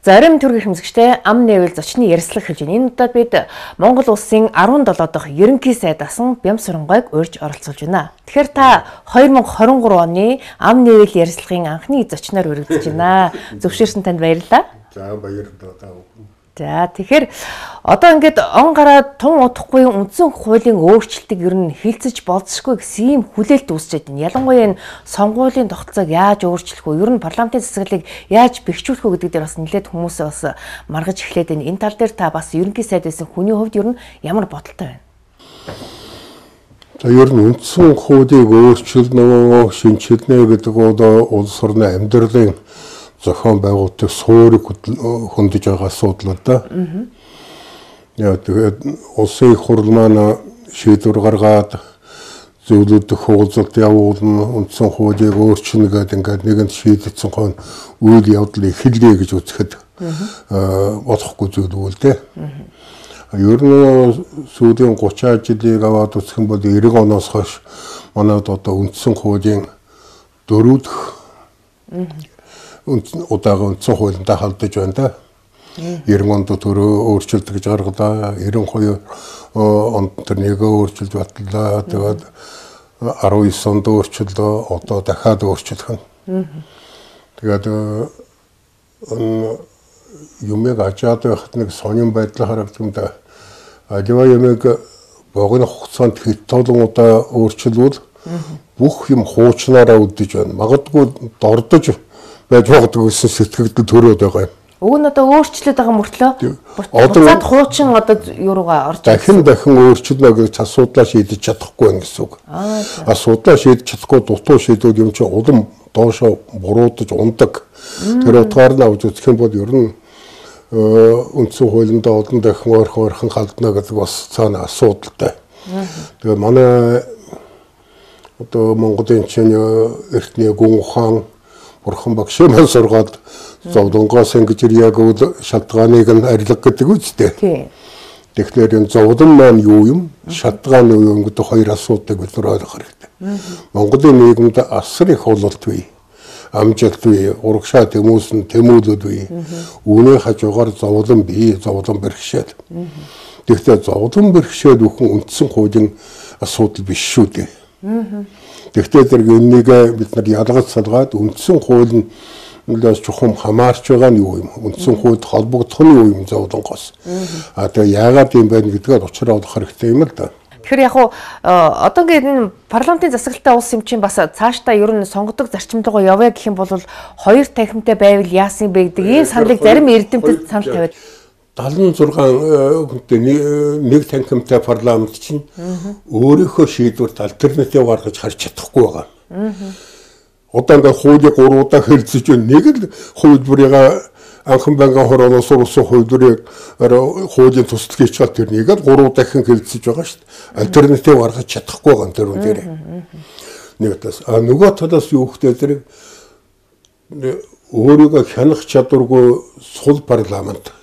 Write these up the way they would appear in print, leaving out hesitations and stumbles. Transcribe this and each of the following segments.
Зарим төргийн хэмжигчтэй ам нээвэл зочны ярилцлага хэлж байна. Энэ удаад бид Монгол улсын 17 дахь ерөнхий сайд асан Бямсурангойг урьж оролцуулж байна. Тэгэхээр та 2023 оны ам нээвэл ярилцлагын анхны зочноор өргөдөж байна. Зөвшөөрсөн танд баярлалаа. За баярлалаа. За тэгэхээр одоо ингээд он гараад тун удахгүй үндсэн хуулийн өөрчлөлтийг ер нь хилцэж болцсохгүй гэсэн ийм хүлээлт үүсчихэд байна. Ялангуяа энэ сонгуулийн тогтолцоог яаж өөрчлөх вэ? Ер нь парламентын засаглалыг яаж бэхжүүлэх вэ гэдэг дээр бас нэлээд хүмүүсээ бас маргаж эхлээд байна. Энэ тал дээр та бас ерөнхий сайд байсан хүний хувьд ер нь ямар бодолтой байна? За ер нь үндсэн хуулийг өөрчилнө, шинчилнэ гэдэг одоо улс орны амьдралын зохион байгуулалтын суурийг хөндөж байгаа асуудал да. Яа тэгээд улсын их хурл маань шийдвэр гаргаад зөвлөдөх уулзалт явуулна, үндсэн хуулийг өөрчилнө гэдэг ингээд нэгэн шийдэгдсэн хон үйл явдлыг эхэлгээ гэж үзэхэд болохгүй зүйл үйл дээ. Ер нь сүүлийн 30 жилийг аваад үзэх юм бол 90 оноос хойш манайд одоо үндсэн хуулийн 4 дахь удаага үндсэн хуулиндаа халдаж байна да. 90 онд төрөө өөрчлөлт гэж гаргалаа. 92 онд тэр нэгэ өөрчлөлт батлаа. Тэгээд 19 онд өөрчлөлөө одоо дахиад өөрчлөх нь. Тэгээд юмэг ачаад байхад нэг сонин байдал харагдсан. Аливаа юмэг богино хугацаанд хэд толон удаа өөрчлөвөл бүх юм хуучнаараа үдэж байна. Магадгүй дордож байж магадгүй гэсэн сэтгэгдэл төрөөд байгаа юм. Уг нь одоо өөрчлөлт байгаа мөртлөө буцаад хуучин одоо юуруугаа орж дахин өөрчлөлнө гэж асуудлаа шийдэж чадахгүй байх гэсэн үг. Асуудлаа шийдэж чадахгүй дутуу шийдвэл юм чи улам доошоо буруудаж ундаг. Тэр утгаар нь авч үзэх юм бол ер нь үндсэн хуулиндаа олон дахин ойрхон халдна гэдэг бас цаана асуудалтай. Тэгээ манай одоо Монголын чинь эртний гүн ухаан Бурхан багшаа сургаад зовлонгоос ингэж яг шалтгааныг нь арилга гэдэг үстэй. Тэгэхээр энэ зовлон маань юу юм? Шалтгаан юу юм гэдэг хоёр асуудлыг бид нар ойлгох хэрэгтэй. Монголын нийгэмд асар их ололт бий. Амжилт бий, урагшаа тэмүүлүүд бий. Үүний хажуугаар зовлон бий, зовлон бэрхшээл. Тэгэхдээ зовлон бэрхшээл бүхэн үндсэн хуулийн асуудал биш шүү дээ. Тэгвэл зэрэг энэнийг бид нар ялгаж салгаад үндсэн хууль нь чухам хамаарч байгаа нь юу юм? Үндсэн хуульд холбогдох нь юу юм зовлонгоос? Тэгээ яагаад юм байна гэдгээр учраа олох хэрэгтэй юм л да. Тэгэхээр яг одоо ингээд энэ парламентын засаглалтай улс юм чинь бас цаашдаа ер нь сонгодог зарчимтайгаа явъя гэх юм бол хоёр танхимтай байвал яасан бэ гэдэг ийм саналыг зарим эрдэмтэд санал тавиад 76 хүнтэй нэг танхимтай парламент чинь өөрийнхөө шийдвэрт альтернатив гаргаж харж чадахгүй байгаа. Одоо ингээд хуулийг 3 удаа хэлцэж байна. Нэг л хувилбарыг анхан банкын хороолоос урсан хувилбарыг хуулийн туслахыг чад тэр нэгээр 3 дахин хэлцэж байгаа шүү дээ. Альтернатив гаргаж чадахгүй байгаа тэр үн дээр. Нэг талаас нөгөө талаас юу хөтэй зэрэг өөрийгөө хянах чадваргүй сул парламент.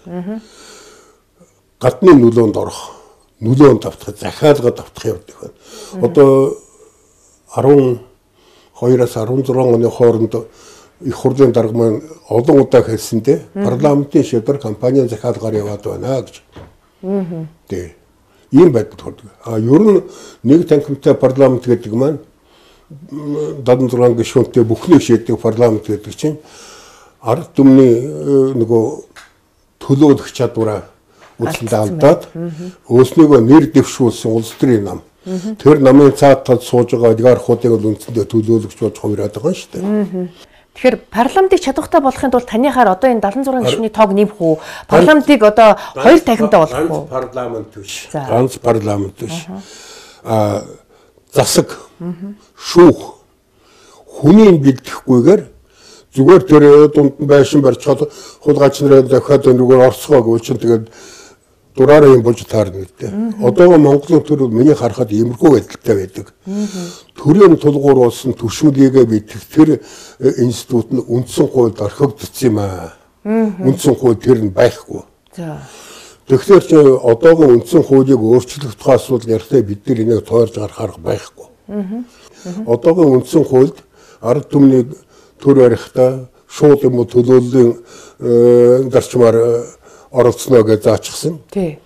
Гадны нөлөөнд орох, нөлөөнд автах, захиалгад автах явдаг байна. Одоо 12-аас 16 оны хооронд их хурлын дарга маань олон удаа хэлсэндээ парламентын шийдвэр компанийн захиалгаар яваад байна гэж. Тэг. Ийм байдал төрдөг. Ер нь нэг танхимтай парламент гэдэг маань 76 гишүүнтэй бүхнийг шийддэг парламент гэдэг чинь ард түмний нөгөө төлөөлөх чадвараа үлдэндээ алдаад өөрснийгөө нэр дэвшүүлсэн улс төрийн нам. Тэр намын цаад талд сууж байгаа олигархуудыг үндсэндээ төлөөлөгч болж хувираад байгаа шүү дээ. Тэгэхээр парламентыг чадвартай болохын тулд танихаар одоо энэ 76 гишүүний тоог нэмэх үү? Парламентыг одоо хоёр танхимтай болгох уу? Парламент биш. Ганц парламент биш. Засаг, шүүх, хүний бэлдэхгүйгээр зүгээр тэр дунд байшин барьж чад хулгайч нарын дахиад өнөөгөр орцгоо гэж чинь тэгээд дураараа юм болж таарна гэдэг. Одоо Монголын төр миний харахад иймэрхүү байдалтай байдаг. Төрийн тулгуур болсон түвшинлийгээ мэдэх тэр институт нь үндсэн хуульд орхигдсон юм аа. Үндсэн хууль тэр нь байхгүй. Тэгэхээр ч одоогийн үндсэн хуулийг өөрчлөх тухай асуудал ярихтаа бид нар энийг тойрж гарах арга байхгүй. Одоогийн үндсэн хуульд ард түмний төр барихтаа шууд юм уу төлөөллийн зарчмаар оролцоно гэж заачсан. Тий.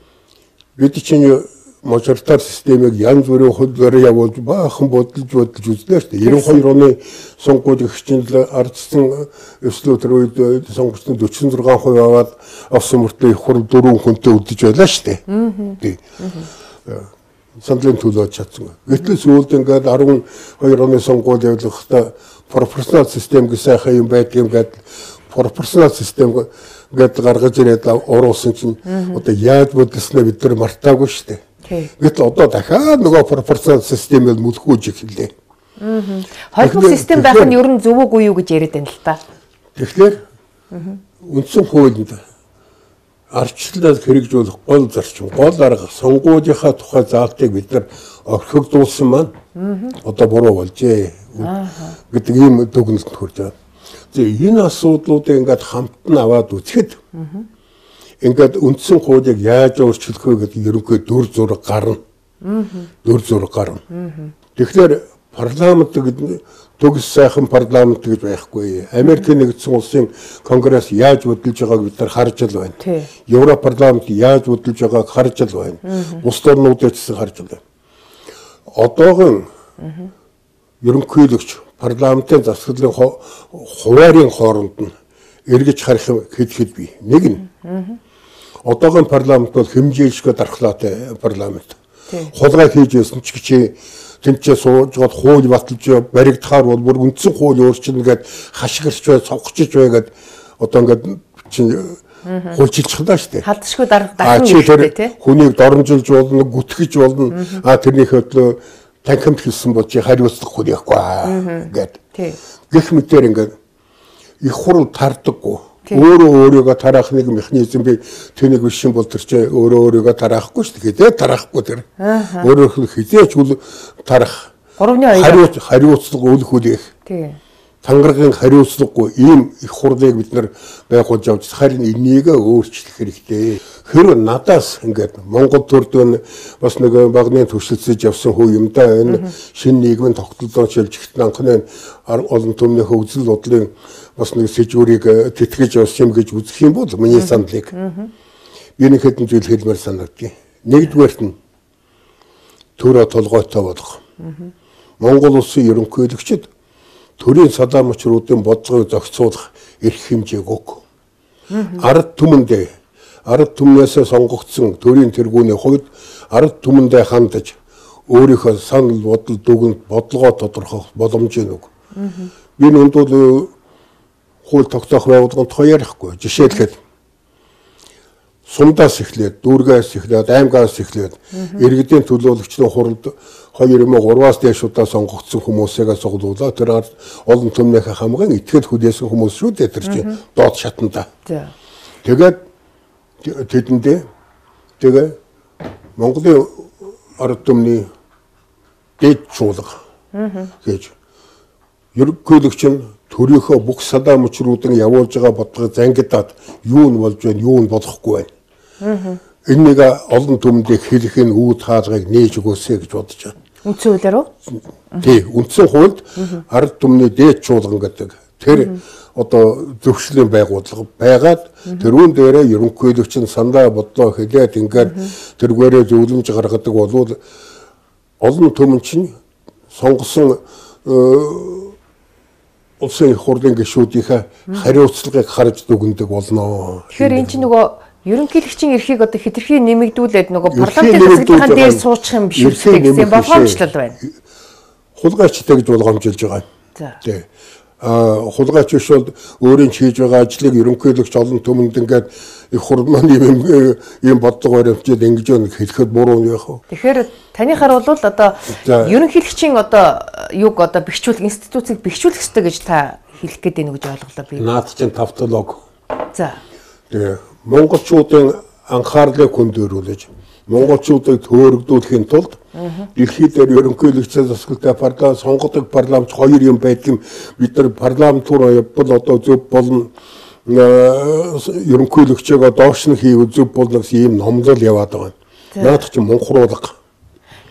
Бид чинь мажоритар системийг янз бүрийн хөлөөр явуулж баахан бодолж үзнэ шүү дээ. 92 оны сонгуулийн хичнээн ардсан өслөө төр үед сонгогчдын 46% аваад авсан мөртөө их хурл 4 хүнтэй үлдэж байлаа шүү дээ. Тий. Сандлын төлөөж чадсан. Гэтэл сүүлд ингээд 12 оны сонгуул явуулахдаа пропорционал систем гэж сайхан юм байдгийн гэдэг пропорционал систем гэдэг гаргаж ирээд оруулсан чинь одоо яаж бодлосноо бид нар мартаагүй шүү дээ. Гэтэл одоо дахиад нөгөө пропорционал системээр мүлхүүж эхэллээ. Холбоо систем байх нь ер нь зөв үгүй юу гэж яриад байна л та. Тэгэхээр үндсэн хуулинд арчлалд хэрэгжүүлэх гол зарчим, гол арга сонгуулийнхаа тухай заалтыг бид нар орхигдуулсан маань одоо буруу болжээ гэдэг ийм дүгнэлтэнд хүрч байгаа. Тэгээ энэ асуудлуудыг ингээд хамтан аваад үзэхэд ингээд үндсэн хуулийг яаж өөрчлөх вэ гэдэг ерөнхий дүр зураг гарна. Дүр зураг гарна. Тэгэхээр парламент гэдэг төгс сайхан парламент гэж байхгүй. Америкийн нэгдсэн улсын конгресс яаж бодлож байгааг бид нар харж л байна. Европ парламент яаж бодлож байгааг харж л байна. Бус орнуудад ч харж л байна. Одоогийн ерөнхийлөгч парламентын засаглалын хуваарийн хооронд нь эргэж харах хэд бий. Нэг нь одоогийн парламент бол хэмжээлшгүй дархлаатай парламент. Хулгай хийж байсан ч гэж тэнцээ сууж гол хууль баталж баригдахаар бол бүр үндсэн хууль өөрчилнө гэд хашгирч бай, цовхчиж байгаад одоо ингээд хуульчилчихлаа шүү дээ. Халдшгүй дархан хэрэгтэй тий. Хүнийг доромжилж болно, гүтгэж болно. Тэрний хөдлөө танхимд хэлсэн бол чи хариуцлах хүн яахгүй гэд. Гэх мэтээр ингээд их хурл тардаггүй. Өөрийгөө тараах нэг механизм би тэнийг биш бол тэр чи өөрийгөө тараахгүй шүү дээ. Тараахгүй тэр. Өөрөө хизээч үл тарах. 3-2 хариуцлага үл хүлээх. Тангаргийн хариуцлагагүй ийм их хурлыг бид нар байгуулж авч харин энийг өөрчлөх хэрэгтэй. Хэрвээ надаас ингээд Монгол төрдөө бас нэг багны төвшөлцөж явсан хүү юм да энэ шинэ нийгмийн тогтолцоо шилжихт анхны олон түмний хөгжил бодлын бас нэг сэжүүрийг тэтгэж явсан юм гэж үзэх юм бол миний сандлыг би нэг хэдэн зүйл хэлмээр санагдав. Нэгдүгээрт нь төрөө толгойтой болох. Монгол улсын ерөнхийлөгчд төрийн садаа мөчрүүдийн бодлогыг зохицуулах эрх хэмжээг өг. Ард түмнээс сонгогдсон төрийн тэргүүний хувьд ард түмэндээ хандаж өөрийнхөө санал бодол дүгнэлт бодлогоо тодорхойлох боломжийг өг. Би энэ бол хууль тогтоох байгууллагын тухай ярихгүй. Жишээлбэл сумдаас эхлээд, дүүргээс эхлээд, аймгаас эхлээд иргэдийн төлөөлөгчдийн хуралд 2003-аас дээш удаа сонгогдсон хүмүүсээ цуглуулаад тэр олон түмнийхээ хамгаан итгэл хүлээсэн хүмүүс шүү дээ тэр чинь доод шатанда. Тэгээд тэдэндээ Монголын ард түмний дэд чуулга гэж ерөнхийлөгч нь төрийнхөө бүх садаа мөчрүүдэн явуулж байгаа бодлогыг зангидаад юу нь болж байна, юу нь болохгүй байна. Энийг олон түмэндээ хэлэх нь үүд хаалгыг нээж өгөөсэй гэж бодож байна. Үндсэн хуулиар уу? Тий, үндсэн хуульд ард түмний дээд чуулган гэдэг тэр одоо зөвшлийн байгууллага байгаад тэрүүн дээрээ ерөнхийлөгч нь сандаа бодлоо хэлээд ингээд тэргээрээ зөвлөмж гаргадаг болвол олон түмэн чинь сонгосон улсын их хурлын гишүүдийнхээ хариуцлагыг харж дүгндэг болно. Тэгэхээр эн чинь нөгөө ерөнхийлөгчийн эрхийг одоо хэтэрхий нэмэгдүүлээд нөгөө парламентын засаглалын дээр суучих юм биш үү гэсэн болгоомжлол байна. Хулгайчтай гэж болгоомжилж байгаа. Тий. Хулгайч биш бол өөрийн хийж байгаа ажлыг ерөнхийлөгч олон түмэнд ингээд их хурл маань ийм бодлого баримтжид ингэж хэлэхэд буруу юм яах вэ? Тэгэхээр таны хараа бол одоо ерөнхийлөгчийн одоо юг одоо бэхжүүлэх институцийг бэхжүүлэх ёстой гэж та хэлэх гээд байна гэж ойлголоо би. Наад чинь тавтолог. За. Тэгээ монголчуудын анхаарлыг хүндэрүүлж монголчуудыг төөрөгдүүлэхийн тулд дэлхийд дээр ерөнхийлөгчийн засаглалтай парламент сонгодог парламент хоёр юм байдаг. Бид нар парламент руу явбал одоо зөв болно ерөнхийлөгчөөгөө доош нь хийв зөв болно гэсэн ийм номлол яваад байгаа. Наад чинь мунхруулга.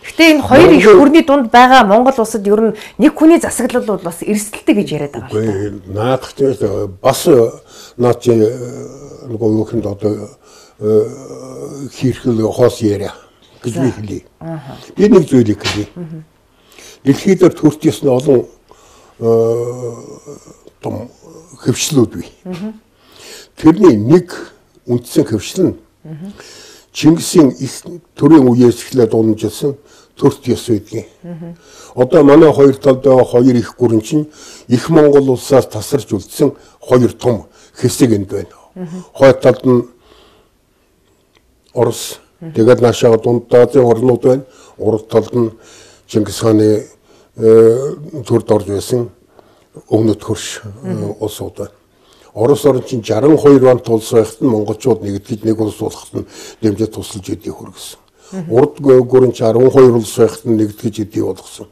Гэхдээ энэ хоёр их хүрний дунд байгаа Монгол улсад ер нь нэг хүний засаглал бол бас эрсдэлтэй гэж яриад байгаа. Үгүй наадах тийм бас наад чи нөгөө юу гэнд одоо хийрхэл хоос яриа гэж би хэлье. Би нэг зүйлийг хэлье. Дэлхийд төрт ёсны олон том хөвчлүүд бий. Тэрний нэг үндсэн хөвшил нь Чингисийн их төрийн үеэс эхлээд уламжилсан төрт ёс байдгийг. Одоо манай хоёр талд байгаа хоёр их гүрэн чинь их Монгол улсаас тасарч үлдсэн хоёр том хэсэг энд байна. Хоёр талд нь Орос, тэгээд наашаа дунд Азийн орнууд байна. Урд талд нь Чингис хааны төрд орж байсан өмнөд хөрш улсууд байна. Орос орн чинь 62 онд улс байхад нь монголчууд нэгдэж нэг улс болоход нь дэмжиж тусалж идэв хүргэсэн. Урд гүрэн 12 улс байхад нь нэгдэж идэв болгосон.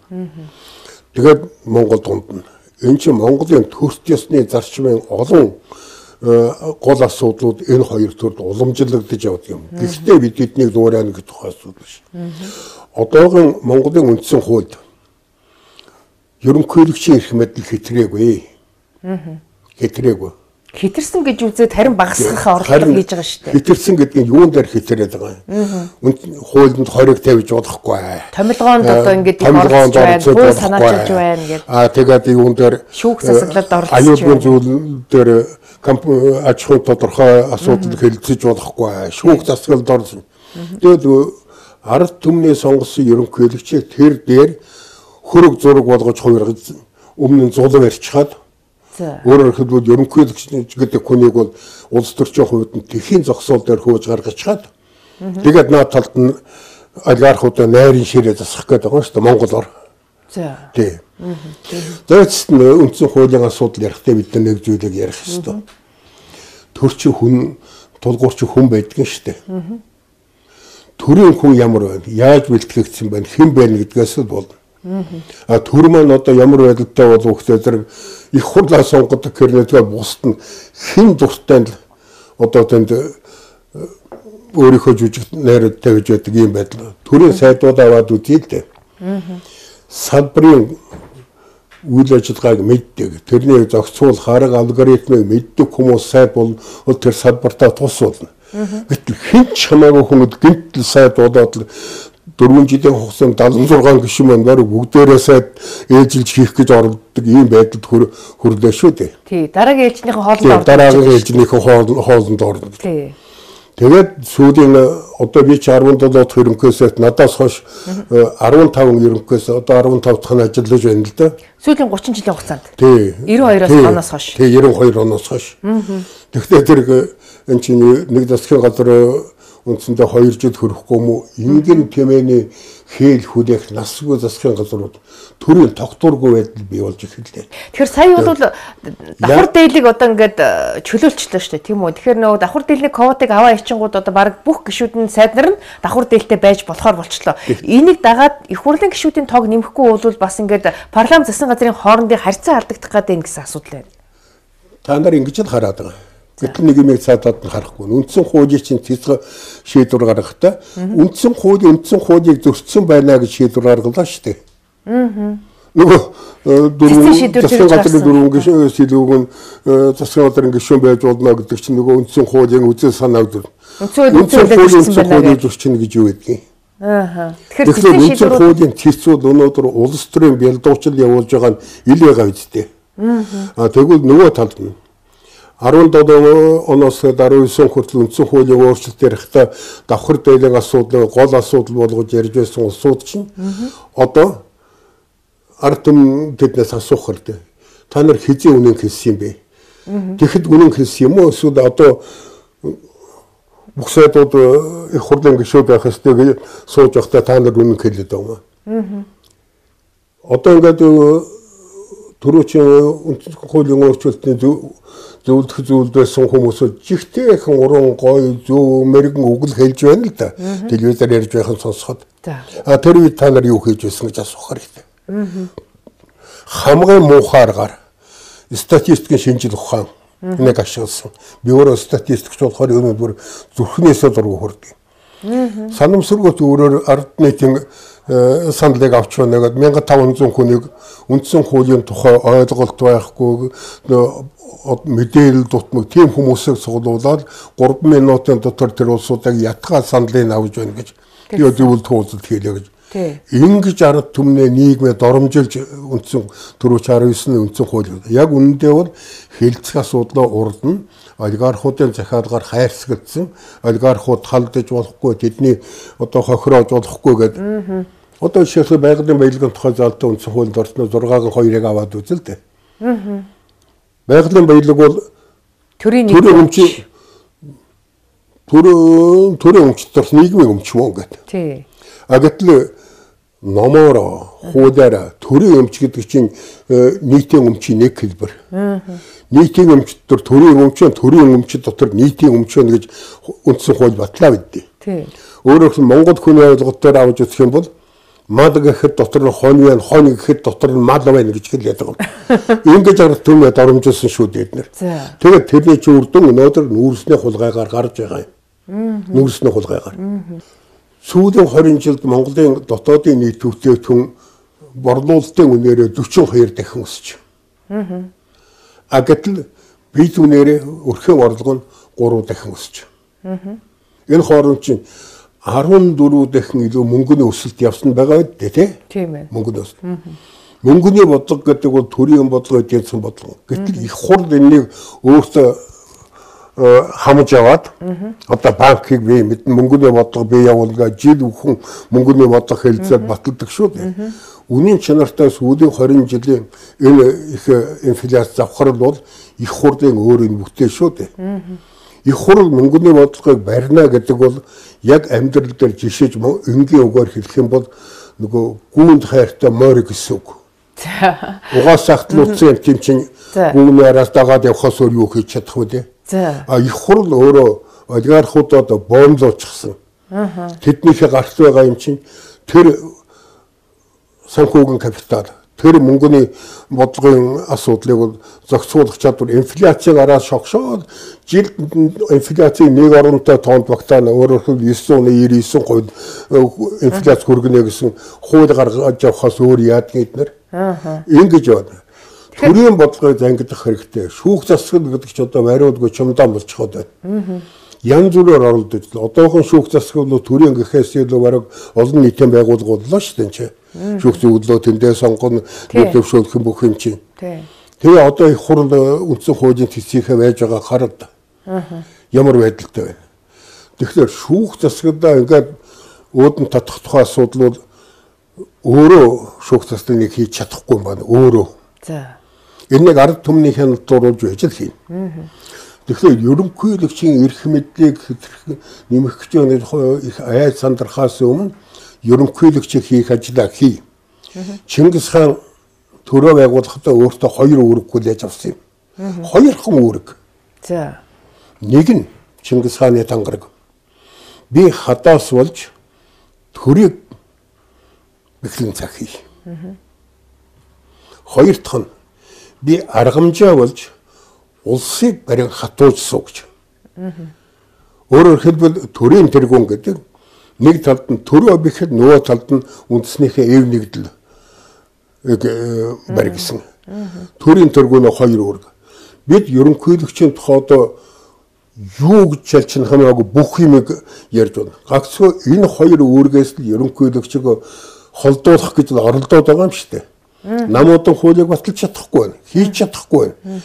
Тэгээд Монгол дунд нь энэ чинь Монголын төрт ёсны зарчмын олон гол асуудлууд энэ хоёр төрд уламжлагдаж явдаг юм. Гэхдээ бид эднийг дуурайна гэж тухай асуудал биш. Одоогийн Монголын үндсэн хуульд ерөнхийлөгчийн эрх мэдэл хэтрээгүй. Хэтрээгүй. Хитэрсэн гэж үзээд харин багасгах орлого хийж байгаа шүү дээ. Хитэрсэн гэдэг нь юунд дээр хитэрээд байгаа юм? Хуулинд 20-ыг тавьж болохгүй. Томилгоонд одоо ингэж оролцож байна, хууль санаачилж байна гэдэг. Тэгээд юунд дээр шүүх засаглалд оролцож байна. Аюулгүй зүйл дээр аж ахуйн тодорхой асуудал хэлэлцэж болохгүй. Шүүх засаглалд орсон. Тэгээд ард түмний сонгосон ерөнхийлөгчийг тэр дээр хөрөг зураг болгож хувиргаж өмнө нь зулам арчхаад өөрөөр хэлбэл ерөнхийлөгч гэдэг хүнийг бол улс төрчийн хувьд нь тэхийн зогсоол дээр хөөж гаргачаад тэгээд наад талд нь олигархуудаа найрын ширээ засах гэдэг байгаа шүү дээ Монголоор. За. Тий. Зөөцт нь үндсэн хуулийн асуудал ярихдаа бид нэг зүйлийг ярих хэрэгтэй. Төрчин хүн тулгуурч хүн байдаг нь шүү дээ. Төрийн хүн ямар байна? Яаж бэлтгэгдсэн байна? Хэн байна гэдгээс л болно. Төр маань одоо ямар байдалтай болов гэхээр зэрэг их хурлаа сонгодог хэрнээдгээ бусд нь хэн дуртай л одоо тэнд өөрийнхөө жүжиг найрууд тавьж байдаг юм байдал. Төрийн сайдууд аваад үзье л дээ. Салбарын үйл ажиллагааг мэддэг. Тэрний зохицуул харга алгоритмыг мэддэг хүмүүс сайд бол тэр салбартаа тус болно. Гэтэл хэн ч хамаагүй хүмүүс гинтл сайд болоод 4 жилийн хугацаанд 76 гишүүн маань баруун бүгдээрээ сайд ээжилж хийх гэж оролддог ийм байдалд хүрлээ шүү дээ. Тий, дараагийн ээлжнийхэн хоолнд ордог. Дараагийн ээлжнийхэн хоолнд ордог. Тий. Тэгээд сүүлийн одоо би 17 дахь ерөнхийдөөс надаас хойш 15 ерөнхийдөөс одоо 15 дахь нь ажиллаж байна л да. Сүүлийн 30 жилийн хугацаанд. Тий. 92-оос оноос хойш. Тий, 92 оноос хойш. Тэгэхээр тэр энэ чинь нэг засгийн газар үндсэндээ 2 жил хүрэхгүй мүү ингэн тэмээний хээл хүлээх насгүй засгийн газрууд төрийн тогтворгүй байдал бий болж эхэллээ. Тэгэхээр сая бол давхар дээлийг одоо ингээд чөлөөлчлөө шүү дээ тийм үү. Тэгэхээр нөгөө давхар дээлний квотыг аваа ичингууд одоо баг бүх гишүүдийн сайднаар нь давхар дээлтэй байж болохоор болчлоо. Энийг дагаад их хурлын гишүүдийн тоог нэмэхгүй бол бас ингээд парламент засгийн газрын хоорондын харьцаа алдагдах гэдэг гэсэн асуудал байна. Та нар ингэж л хараад байгаа. Гэтэл нэг юм цаатаад нь харахгүй. Үндсэн хуулийн чинь цэцэг шийдвэр гаргахдаа үндсэн хуулийг зөрчсөн байна гэж шийдвэр гаргалаа шүү дээ. Нөгөө засгийн газрын дөрвөн гишүүн сэлгүүн засгийн газрын гишүүн байж болно гэдэг чинь нөгөө үндсэн хуулийн үзэл санааг үндсэн хуулийн зөрчин гэж юу гэдгийг. Тэгэхээр үндсэн хуулийн цэцүүд өнөөдөр улс төрийн бэлдуучил явуулж байгаа нь ил байгаа үстэй. Тэгвэл нөгөө талд нь 17 оноос 19 хүртэл үндсэн хуулийн өөрчлөлт ярихдаа давхар дээлийн асуудлыг гол асуудал болгож ярьж байсан улсууд чинь одоо ард түмэн тэднээс асуух хэрэгтэй. Та нар хэзээ үнэн хэлсэн юм бэ? Тэгэхэд үнэн хэлсэн юм уу? Эсвэл одоо бүх сайдууд их хурлын гишүүд байх ёстой гэж сууж байхдаа та нар үнэн хэлээд байгаа юм. Одоо ингээд төрөөчийн үндсэн хуулийн өөрчлөлтийн зөвлөх байсан хүмүүсүүд жигтэй их уран гоё зөв мэрэгэн үг л хэлж байна л да. Телевизээр ярьж байхын сонсоход. Тэр үед та нар юу хийж байсан гэж асуух хэрэгтэй. Хамгийн муухайгаар статистикийн шинжил ухаан нэг ашигласан. Би өөрөө статистикч болохоор өнөөдөр зүрхнээсээ дургу хүрдэг. Санамсаргууд өөрөөр ард нийтийн саналыг авч байна гэдэг 1500 хүнийг үндсэн хуулийн тухай ойлголт байхгүй мэдээлэл дутмаг тийм хүмүүсийг цуглуулад 3 минутын дотор тэр улсуудыг ятгаа саналыг авч байна гэж би зөвлөлт хуулалт хийлээ гэж. Ингэж ард түмнээ нийгмээ доромжилж үндсэн 469-ны үндсэн хууль. Яг үнэндээ бол хэлцэх асуудлаа урдна олигархуудын захиалгаар хайрцагдсан олигархууд халдаж болохгүй тэдний одоо хохироож болохгүй гэдэг. Одоо жишээлбэл байгалийн баялагын тухай залтаа үндсэн хуулинд орсноо 6-гийн 2-ыг аваад үзэл дээ. Байгалийн баялаг бол төрийн өмчтөр нийгмийн өмч мөн гэдэг. Тий. Гэтэл номоор хуулиараа төрийн өмч гэдэг чинь нийтийн өмчийн нэг хэлбэр. Нийтийн өмч дотор төрийн өмч дотор нийтийн өмч гэж үндсэн хууль батлаа бидээ. Тий. Өөрөөр хэлбэл Монгол хүний ойлголтоор авч үзэх юм бол мал гэхэд дотор нь хонь байна, хонь гэхэд дотор нь мал байна гэж хэлээд байгаа. Ингэж ард түмээ доромжилсан шүү дээ эднэр. Тэгээд тэрний чи үрдэн өнөөдөр нүүрсний хулгайгаар гарч байгаа юм. Нүүрсний хулгайгаар. Сүүлийн 20 жилд Монголын дотоодын нийт төвчөн борлуулалтын үнээрээ 42 дахин өсөж. Гэтэл бие үнээрээ өрхийн орлого нь 3 дахин өсөж. Энэ хооронд чинь 14 дахин илүү мөнгөний өсөлт явсан байгаа үү тий? Тийм ээ. Мөнгөний өсөлт. Мөнгөний бодлого гэдэг бол төрийн бодлого эдгэсэн бодлого. Гэтэл их хурд энийг өөртөө хамж аваад одоо банкыг би мэдэн мөнгөний бодлого бий явуулгаа жил бүхэн мөнгөний бодлого хэлцээд баталдаг шүү дээ. Үнийн чанартай сүүлийн 20 жилийн энэ их инфляц завхрал бол их хурдын өөрийн бүтээл шүү дээ. Их хурл мөнгөний бодлогыг барина гэдэг бол яг амьдрал дээр жишээж энгийн үгээр хэлэх юм бол нөгөө гүнд хайртай морь гэсэн үг. Угаасаа ахтлуулсан тийм чинь гүний араас дагаад явхаас өөр юу хийж чадах вэ? Их хурл өөрөө олигархуудад боомлоочсон. Тэднийхээ гарт байгаа юм чинь тэр санхүүгийн капитал тэр мөнгөний бодлогын асуудлыг бол зохицуулах чадвар инфляцийг араас шогшоод жил инфляцийн 1.5 тонн багтаана өөрөөр хэлбэл 999% инфляц хүргэнэ гэсэн хууль гаргаж явахаас өөр яадгийг эднэр ингэж байна. Төрийн бодлогыг зангидах хэрэгтэй. Шүүх засаг гэдэг чинь одоо бариудгүй чумдаан болчиход байна. Янз бүрээр оролдож одоохон шүүх засаг бол төрийн гэхээс илүү бараг олон нийтийн байгууллага боллоо шүү дээ. Шүүх зөвлөлөө тэндээ сонгоно, төвшөөлөх бүх юм чинь. Тэгээ одоо их хурл үндсэн хуулийн төсвийнхээ байж байгаа хараад ямар байдалтай байна. Тэгэхээр шүүх засагдаа ингээд өөдөн татах тухай асуудал бол өөрөө шүүх засгийг хийж чадахгүй юм байна. Өөрөө. Энийг ард түмнийхээ нутруулж байж л хийн. Тэгэхээр ерөнхийлөгчийн эрх мэдлийг нэмэх гэж их айд сандрахаас өмнө ерөнхийлөгчийг хийх ажлаа хий. Чингис хаан төрөө байгуулахдаа өөртөө 2 үүрэг хүлээж авсан юм. 2 хон үүрэг. Нэг нь Чингис хааны тангараг. Би хадаас болж төрийг бэхлэн цаг хий. 2 дахь нь би аргамжаа болж улсыг барин хатууж сууж. Өөрөөр хэлбэл төрийн тэргүүн гэдэг нэг талд нь төрөө бэхэд нөгөө талд нь үндэснийхээ эв нэгдэл баригсан. Төрийн тэргүүн 2 үүрэг. Бид ерөнхийлөгчийн тухай одоо юу гэж шалчин хамаагүй бүх юмыг ярьж байна. Гагцхөө энэ 2 үүргээс л ерөнхийлөгчийг холдуулах гэж оролдоод байгаа юм шүү дээ. Намуудын хуулийг баталж чадахгүй байна. Хийж чадахгүй байна.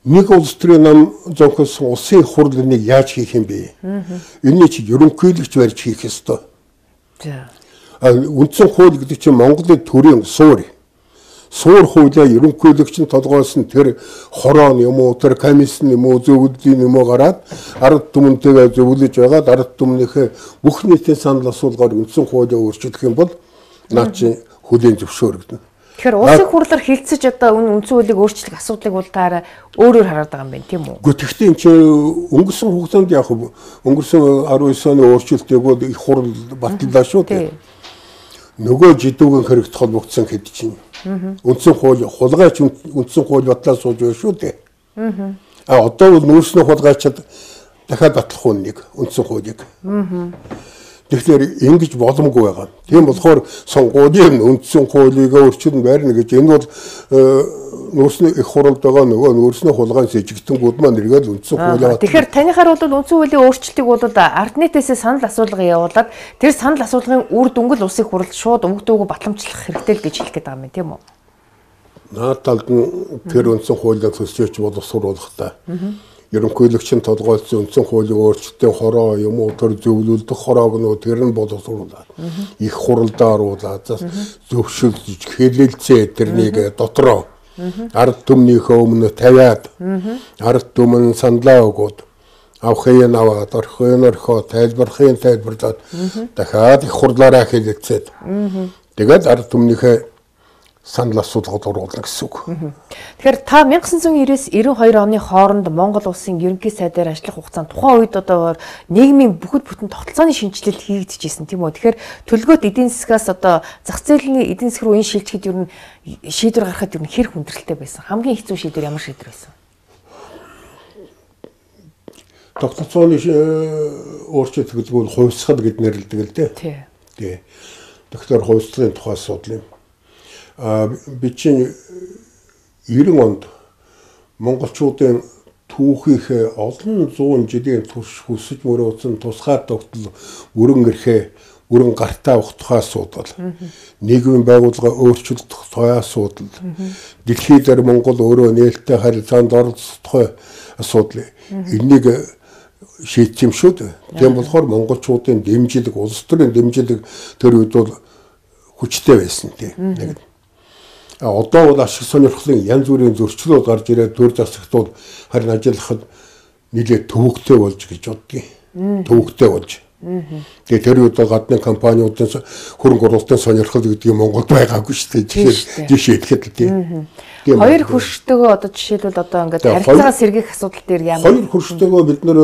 Нэг улс төрийн нам зохиосон улсын хурлыг яаж хийх юм бэ? Энийг чи ерөнхийлөгч барьж хийх ёстой. Үндсэн хууль гэдэг чинь Монголын төрийн суур. Суур хуулиа ерөнхийлөгч нь толгойсон тэр хорон юм уу, тэр комиссн юм уу, зөвлөлийн юм уу гараад ард түмэнтэйгээ зөвлөж байгаад ард түмнийхээ бүх нийтийн санал асуулгаар үндсэн хуулиа өөрчлөх юм бол наа чи хөлийн зөвшөөрөгдөнө. Тэгэхээр улсын хурлаар хилцэж одоо үндсэн хуулийг өөрчлөх асуудлыг бол таараа өөрөөр хараад байгаа юм байна тийм үү? Гэхдээ тэгтээ энэ чинь өнгөрсөн хугацаанд яг өнгөрсөн 19 оны өөрчлөлтийг бол их хурл батлаа шүү дээ. Нөгөө жидүүгийн хэрэгт холбогдсон хэд чинь үндсэн хууль хулгайч үндсэн хууль батлаа сууж байна шүү дээ. Одоо бол нүүрсний хулгайчид дахиад батлах уу нэг үндсэн хуулийг. Тэгэхээр ингэж боломгүй байгаа. Тийм болохоор сонгуулийн үндсэн хуулийг өөрчилнө байрна гэж энэ бол нөөцний их хуралд байгаа нөгөө нөөцний хулгайн сэжигтэнгүүд маань эргээд үндсэн хуулиа. Тэгэхээр танихаар бол үндсэн хуулийн өөрчлөлтийг бол ард нийтээсээ санал асуулга явуулаад тэр санал асуулгын үр дүнгэл улсын хурал шууд өнгөтэйгөө батламжлах хэрэгтэй л гэж хэлэх гээд байгаа юм тийм үү? Наад талд нь тэр үндсэн хуулийг төсөөлж боловсруулах та. Ерөнхийлөгчийн толгойлсон үндсэн хуулийн өөрчлөлтийн хороо юм уу тэр зөвлөлдөх хороог нь тэр нь боловсруулаад их хуралдаа оруулаад зөвшөөрж хэлэлцээ тэрнийг дотроо ард түмнийхөө өмнө тавиад ард түмэн саналаа өгөөд авахын аваад орхын орхоо тайлбархын тайлбарлаад дахиад их хурлаараа хэлэлцээд тэгээд ард түмнийхээ санал асуулгад оруулна гэсэн үг. Тэгэхээр та 1990-ээс 92 оны хооронд Монгол улсын ерөнхий сайдаар ажиллах хугацаанд тухайн үед одоо нийгмийн бүхэл бүтэн тогтолцооны шинжилэл хийгдчихсэн тийм үү. Тэгэхээр төлгөөт эдийн засгаас одоо зах зээлийн эдийн засаг руу энэ шилжихэд ер нь шийдвэр гаргахад ер нь хэр хүндрэлтэй байсан. Хамгийн хэцүү шийдвэр ямар шийдвэр байсан? Тогтолцооны өөрчлөлт гэдэг нь хувьсгал гэд нэрлэдэг л дээ. Тий. Тэгэхээр хувьсгалын тухай асуудал юм. Би чинь 90 онд монголчуудын түүхийнхээ олон зуун жилийн турш хүсэж мөрөөдсөн тусгай тогтол бүрэн эрхээ бүрэн гартаа авах тухай асуудал. Нийгмийн байгууллага өөрчлөлдөх тухай асуудал. Дэлхийд дээр Монгол өөрөө нээлттэй харилцаанд оролцох тухай асуудал. Энийг шийдэх юм шүү дээ. Тийм болохоор монголчуудын дэмжлэг, улс төрийн дэмжлэг тэр үед бол хүчтэй байсан тийм. Одоо бол ашиг сонирхлын янз бүрийн зөрчлүүд гарч ирээд төр засагтууд харин ажиллахад нэлээд төвөгтэй болж гэж боддгийг. Төвөгтэй болж. Тэгээд тэр үед гадны компаниудын хөрөнгө оруулалтын сонирхол гэдэг нь Монголд байгаагүй шүү дээ. Жишээ хэлэхэд л тийм. Хоёр хөрштэйгөө одоо жишээлбэл одоо ингээд харилцаагаа сэргийх асуудал дээр ямар хоёр хөрштэйгөө бид нэр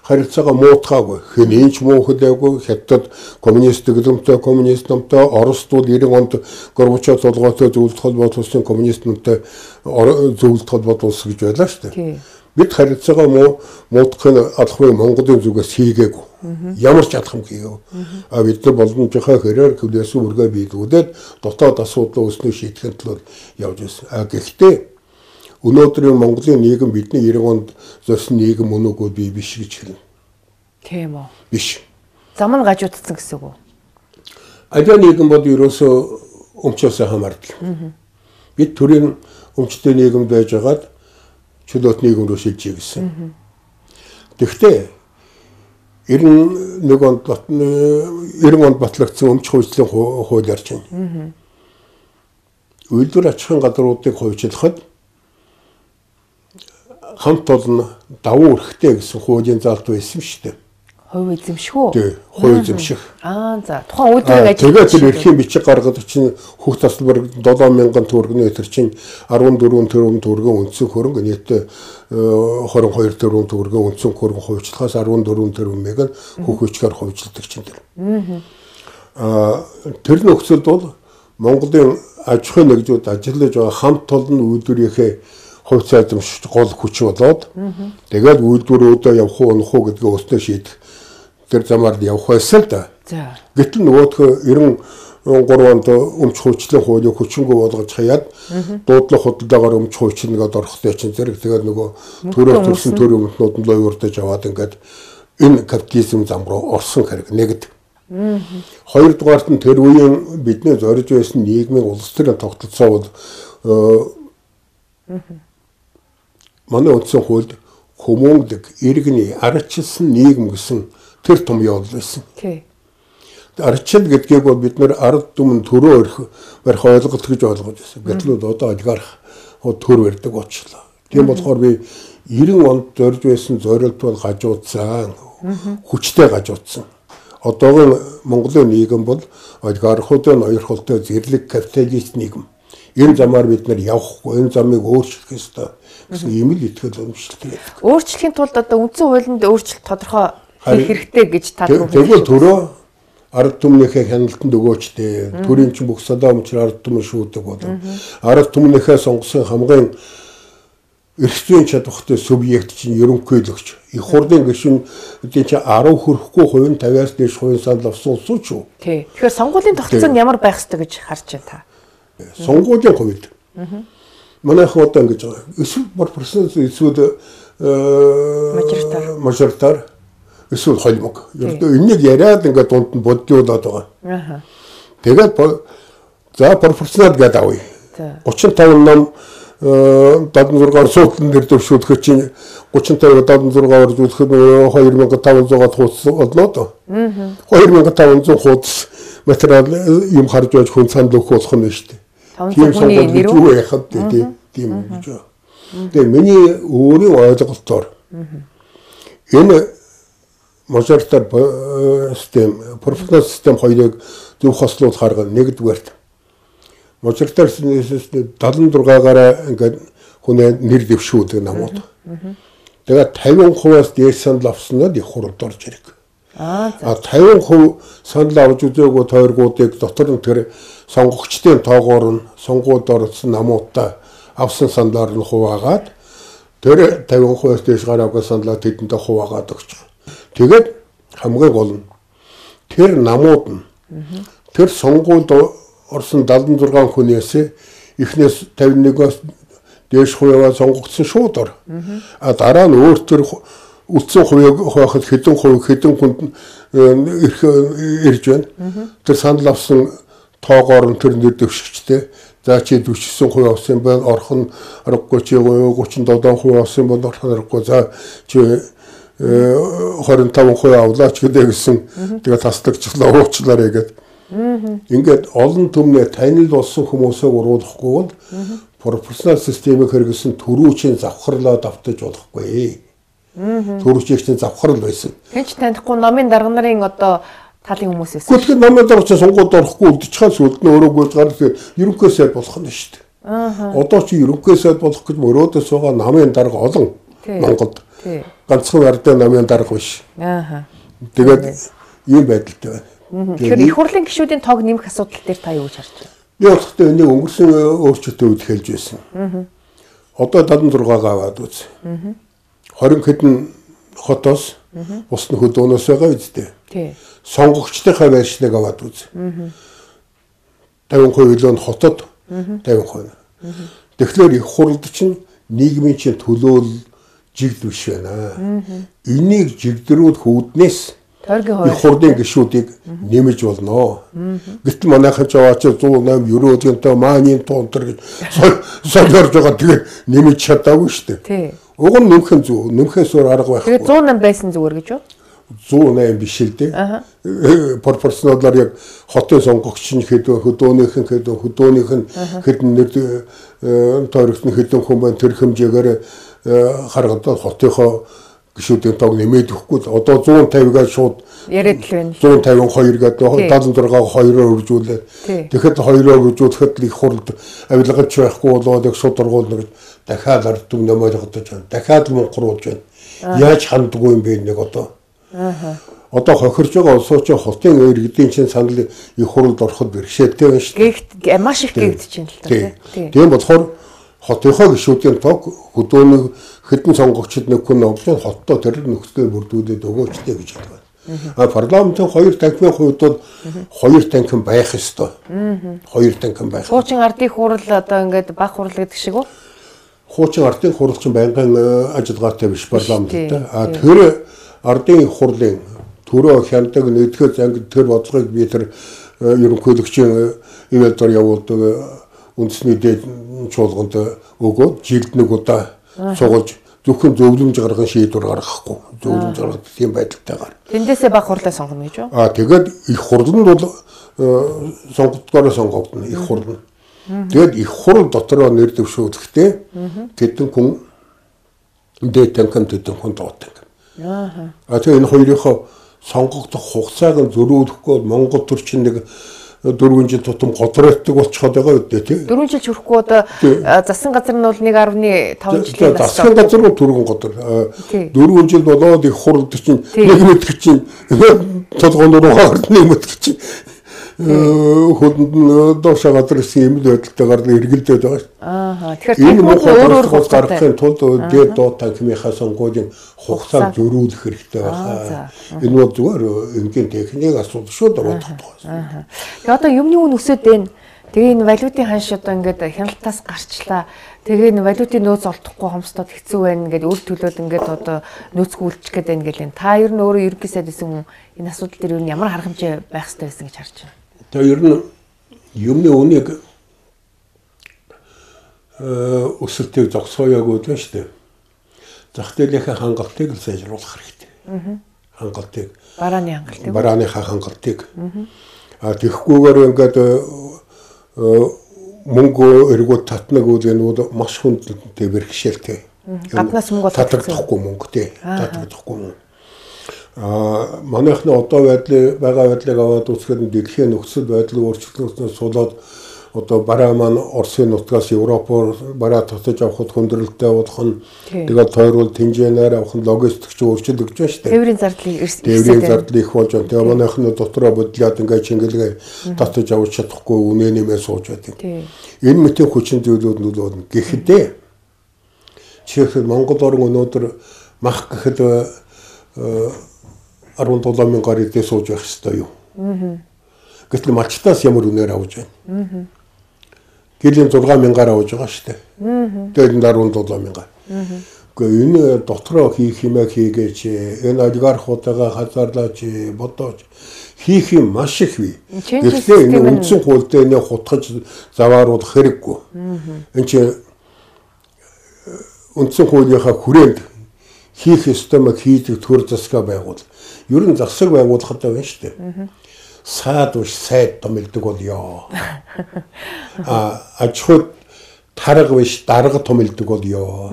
харилцаагаа муутгаагүй. Хинээч муу хөдөөгүй хятад коммунист дэглэмтэй коммунист намтай Оросд бол 90 онд Горбачов толгойтой зөвлөлт холбоот улсын коммунист намтай зөвлөлт холбоот улс гэж байлаа шүү дээ. Бид харилцаагаа муутгахын алхмыг Монголын зүгээс хийгээгүй. Ямар ч алхам хийгээгүй. Бид нар боломжийнхаа хэрээр хөлөөсөн үргээ биелүүлээд дотоод асуудал үүснээ шийдэхин тулд явж байсан. Гэхдээ өнөөдрийн Монголын нийгэм бидний 90 онд зорьсон нийгэм өнөөгөө бий биш гэж хэлнэ. Тийм үү? Биш. Зам нь гажуудсан гэсэн үг үү? Аливаа нийгэм бол ерөөсөө өмчөөсөө хамаардаг. Бид төрийн өмчтэй нийгэм байж байгаад чөлөөт нийгэм рүү шилжиж гисэн. Тэгэхдээ 90 онд батлагдсан өмч хуульчлалын хууль ярьж байна. Үйлдвэр аж ахуйн газруудыг хувьчлахад хамт олон давуу эрхтэй гэсэн хуулийн заалт байсан шүү дээ. Хувь эзэмших үү? Тий, хувь эзэмших. За тухайн үйлдвэрийг ажиллах. Тэгээд тэр эрхийн бичиг гаргаад чинь хөх тасалбар 7,000 төгрөгийн тэр чинь 14 тэрбум төгрөгийн үндсэн хөрөнгө нийтдээ 22 тэрбум төгрөгийн үндсэн хөрөнгө хувьчлахаас 14 тэрбумыг хөх хүчээр хувьчилдаг чинь тэр. Тэр нөхцөлд бол Монголын аж ахуйн нэгжүүд ажиллаж байгаа хамт олон үйлдвэрийнхээ хувь эзэмших гол хүч болоод тэгээд үйлдвэрүүдээ явах уу унах уу гэдгээ өөрсдөө шийдэх тэр замаар явах байсан л да. Гэтэл нөгөөх 93 онд өмч хуульчлалын хуулийг хүчингү болгож хаяад дуудлага худалдаагаар өмч хуульчлалыг орохтой чинь зэрэг тэгээд нөгөө төрөөр төрсэн төр өмтнүүд нь лойвордож аваад ингээд энэ капитализм зам руу орсон хэрэг нэгд. Хоёрдугаарт нь тэр үеийн бидний зорж байсан нийгмийн улс төрийн тогтолцоо бол манай үндсэн хуульд хүмүүнлэг иргэний арчилсан нийгэм гэсэн тэр том явдал байсан. Арчил гэдгийг бол бид нэр ард түмэн төрөө барих ойлголт гэж ойлгож байсан. Гэтэл одоо олигарх төр барьдаг болчихлоо. Тийм болохоор би 90 онд зорж байсан зорилт бол гажуудсан, хүчтэй гажуудсан. Одоогийн Монголын нийгэм бол олигархуудын ноёрхолтой зэрлэг капиталист нийгэм. Энэ замаар бид нар явахгүй, энэ замыг өөрчлөх ёстой гэсэн ийм л итгэл үнэмшилтэй. Өөрчлөхийн тулд одоо үндсэн хуулинд өөрчлөлт тодорхой хийх хэрэгтэй гэж та түрүү. Тэгвэл төрөө ард түмнийхээ хяналтанд өгөөчтэй. Төрийн чинь бүх садаа өмчөр ард түмэн шүүдэг болов. Ард түмнийхээ сонгосон хамгийн эрх зүйн чадвартай субъект чинь ерөнхийлөгч. Их хурлын гишүүн үгүй чи 10 хүрэхгүй хувийн 50-аас дээш хувийн санал авсан улс уу ч юу? Тий. Тэгэхээр сонгуулийн тогтолцоо ямар байх ёстой гэж харж байна та? Сонгуулийн хувьд. Манайх одоо ингэж байгаа. Эсвэл процесс эсвэл мажоритар эсвэл холимог. Ердөө энийг яриад ингээд дунд нь бодлуулаад байгаа. Тэгээд за пропорционал гэдэг авъя. 35 ном 76-аар суудлын нэр дэвшүүлэхэд чинь 35-аар 76-аар зүйлэхэд 2500-аад хуудас олноо доо. 2500 хуудас материал юм харж байж хүн санд өгөх болох нь шүү дээ. Тийм сонгуул гэж юу яхад тийм гэж. Тэгээ миний өөрийн ойлголтоор энэ мажоритар систем, пропорционал систем хоёрыг зөв хослуулах арга нэгдүгээрт мажоритар систем 76-аараа ингээд хүнээ нэр дэвшүүлдэг намууд. Тэгээд 50%-аас дээш санал авснаад их хурлд орж ирэх. 50% санал авч үзээгүй тойргуудыг дотор нь тэр сонгогчдын тоогоор нь сонгуульд орсон намуудаа авсан саналаар нь хуваагаад тэр 50%-аас дээш гараагүй саналаа тэдэндээ хуваагаад өгч байгаа. Тэгээд хамгийн гол нь тэр намууд нь тэр сонгуульд орсон 76 хүнээс эхнээс 51-аас дээш хувиа сонгогдсон шууд ор. Дараа нь өөр төр үлдсэн хувийг хуваахад хэдэн хүнд ирж байна. Тэр санал авсан тоогоор нь тэр нэр дэвшигчтэй. За чи 49% авсан байна. Орхон аргагүй чи 37% авсан байна. Орхон аргагүй. За чи 25% авлаач гэдэг гэсэн. Тэгээ таслагчлаа уучлаарай гэдэг. Ингээд олон түмнээ танил болсон хүмүүсээ уруулахгүй бол пропорционал системийг хэрэгсэн төрүүчийн завхарлаад автаж болохгүй. Төрүүчийн завхарл байсан. Хинч танихгүй номын дарга нарын одоо талын хүмүүс байсан. Гэхдээ номын дарга сонгуульд орохгүй үлдчихсэн сүлд нь өөрөө гүйж гарах ерөнхий сайд болох нь шүү дээ. Одоо чи ерөнхий сайд болох гэж мөрөөдөөс байгаа намын дарга олон Монголд. Ганцхан ардын намын дарга биш. Тэгээд ийм байдалтай байна. Тэгэхээр их хурлын гишүүдийн тоог нэмэх асуудал дээр та юу гэж харж байна? Би бодохдоо энийг өнгөрсөн өөрчлөлтөд хэлж байсан. Одоо 76-гаа аваад үз. 20 хэдэн хотоос усны хөдөөнөөс байгаа үстэй. Сонгогчдынхаа байршлыг аваад үз. 50% илүү нь хотод 50%. Тэгэхээр их хурлд чинь нийгмийн чинь төлөөл жигд биш байна. Энийг жигдрүүд хүүднээс их хурлын гишүүдийг нэмэж болно. Гэтэл манайхан ч аваач 108 ерөөдгөнтэй маанийн туунтар гэж солиорж байгаа тэгээд нэмэж чадаагүй шүү дээ. Уг нь нэмэх нь зөв. Нэмэхээс өөр арга байхгүй. Тэгээд 108 байсан зүгээр гэж юу? 108 биш л дээ. Пропорционалаар яг хотын сонгогч нь хөдөөнийх нь хэдэн нэр тойрогт нь хэдэн хүн байна тэр хэмжээгээр харагдаад хотынхоо гишүүдийн тоог нэмээд өгөхгүй. Одоо 150-аас шууд яриад л байна. 152 гэдэг 76-аа 2-оор үржүүлээд. Тэгэхэд 2-оор үржүүлэхэд их хурлд авилгач байхгүй болоод яг шууд оргуулна гэж дахиад ард түмнээ ойлгодож байна. Дахиад мунхруулж байна. Яаж ханддаггүй юм бэ нэг одоо. Одоо хохирж байгаа улсууч хотын иргэдийн чинь санал их хурлд ороход бэрхшээлтэй байна шүү дээ. Маш их гэгдэж байна л да. Тийм болохоор хотынхоо гишүүдийн тоог хөдөөний хэдэн сонгогчд нэг хүн авч хоттоо тэр нөхцөлөөр бүрдүүлээд өгөөчтэй гэж байна. Парламентын 2 танхимын хувьд бол 2 танхим байх ёстой. 2 танхим байх. Хуучин ардын хурал одоо ингээд баг хурал гэдэг шиг үү? Хуучин ардын хурал чинь байнгын ажиллагаатай биш парламенттай. Тэр ардын хурлын төрөө хяндаг нэгдгээр занг тэр бодлогыг би тэр ерөнхийлөгчийн ивэлдор явуулдаг үндэсний дээд чуулганд өгөөд жилд нэг удаа суулж зөвхөн зөвлөмж гаргах шийдвэр гаргахгүй. Зөвлөмж гаргах тийм байдалтайгаар. Тэндээсээ баг хурлаа сонгоно гэж юу? Тэгээд их хурл нь бол сонгогдгоороо сонгогдно их хурл нь. Тэгээд их хурл дотроо нэр дэвшүүлэхдээ тэдэн хүн дээд танхим тэдэн хүн доод танхим. Тэгээд энэ хоёрынхоо сонгогдох хугацааг нь зөрүүлэхгүй Монгол төрчин нэг 4 жил тутам готролтдаг болчиход байгаа үү тий. 4 жил хүрэхгүй одоо засгийн газар нь бол 1.5 жилийн бас. Засгийн газар нь түргэн готор. 4 жил болоод их хурлд чинь нэг мэд чинь толгоон руу хаард нэг мэд чинь хөдөнд доошоо гадарсан юм л байдалтайгаар эргэлдээд байгаа шүү. Тэгэхээр энэ өөр гаргахын тулд дээд доод танхимынхаа сонгуулийн хугацааг зөрүүлэх хэрэгтэй байна. Энэ бол зүгээр энгийн техник асуудал шүү дөрөвдөг. Тэгээ одоо юмны үн өсөд байна. Тэгээ энэ валютын ханш одоо ингээд хяналтаас гарчлаа. Тэгээ энэ валютын нөөц олдохгүй хомсдод хэцүү байна гэдэг үр төлөөд ингээд одоо нөөцгүй үлдчих гээд байна гэл. Та ер нь өөрөө ерөнхий сайд гэсэн хүн энэ асуудал дээр ер нь ямар арга хэмжээ байх хэрэгтэй байсан гэж харж байна. Тэгээ ер нь юмны үнийг өсөлтийг зогсооёо гэдэг нь шүү дээ. Зах зээлийнхээ хангалтыг л сайжруулах хэрэгтэй. Хангалтыг. Барааныхаа хангалтыг. Тэгэхгүйгээр ингээд мөнгө эргүүд татнаг үзэнүүд маш хүндтэй бэрхшээлтэй. Гаднаас мөнгө татагдахгүй мөнгөтэй. Татагдахгүй мөнгө. Манайхны одоо байгаа байдлыг аваад үзэхэд дэлхийн нөхцөл байдлыг өөрчлөлтөөс сулаад одоо бараа маань Оросын нутгаас Европоор бараа татаж авахд хүндрэлтэй болох нь тэгээд тойрвол тэмжээнээр авах нь логистикч өөрчлөгдөж байна шүү дээ. Тээврийн зардал их болж байна. Тэгээд манайхны дотроо бодлоод ингээд чингэлгээ татаж авч чадахгүй үнэ нэмээ сууж байдаг. Энэ мэтийн хүчин зүйлүүд нь бол гэхдээ чихэл Монгол орн өнөөдөр мах гэхэд 17 мянган гаруй сууж байх хэрэгтэй юу? Гэтэл малчтаас ямар үнээр авч байна? Гэлэн 6 мянгаар авж байгаа шүү дээ. Тэгээд 17 мянган. Гэхдээ энэ дотроо хийх юмаа хийгээч, энэ олигархуудаа хазаарлаач, бодооч хийх юм маш их бий. Гэхдээ энэ үндсэн хуульд энэ хутгаж завааруулах хэрэггүй. Энд чинь үндсэн хуулийнхаа хүрээнд хийх ёстой маяг хийдэг төр засгаа байгуул. Ер нь засаг байгуулахад байна шүү дээ. Саад уш сайд томилдог болёо. Аж ахуйд тарга биш дарга томилдог болёо.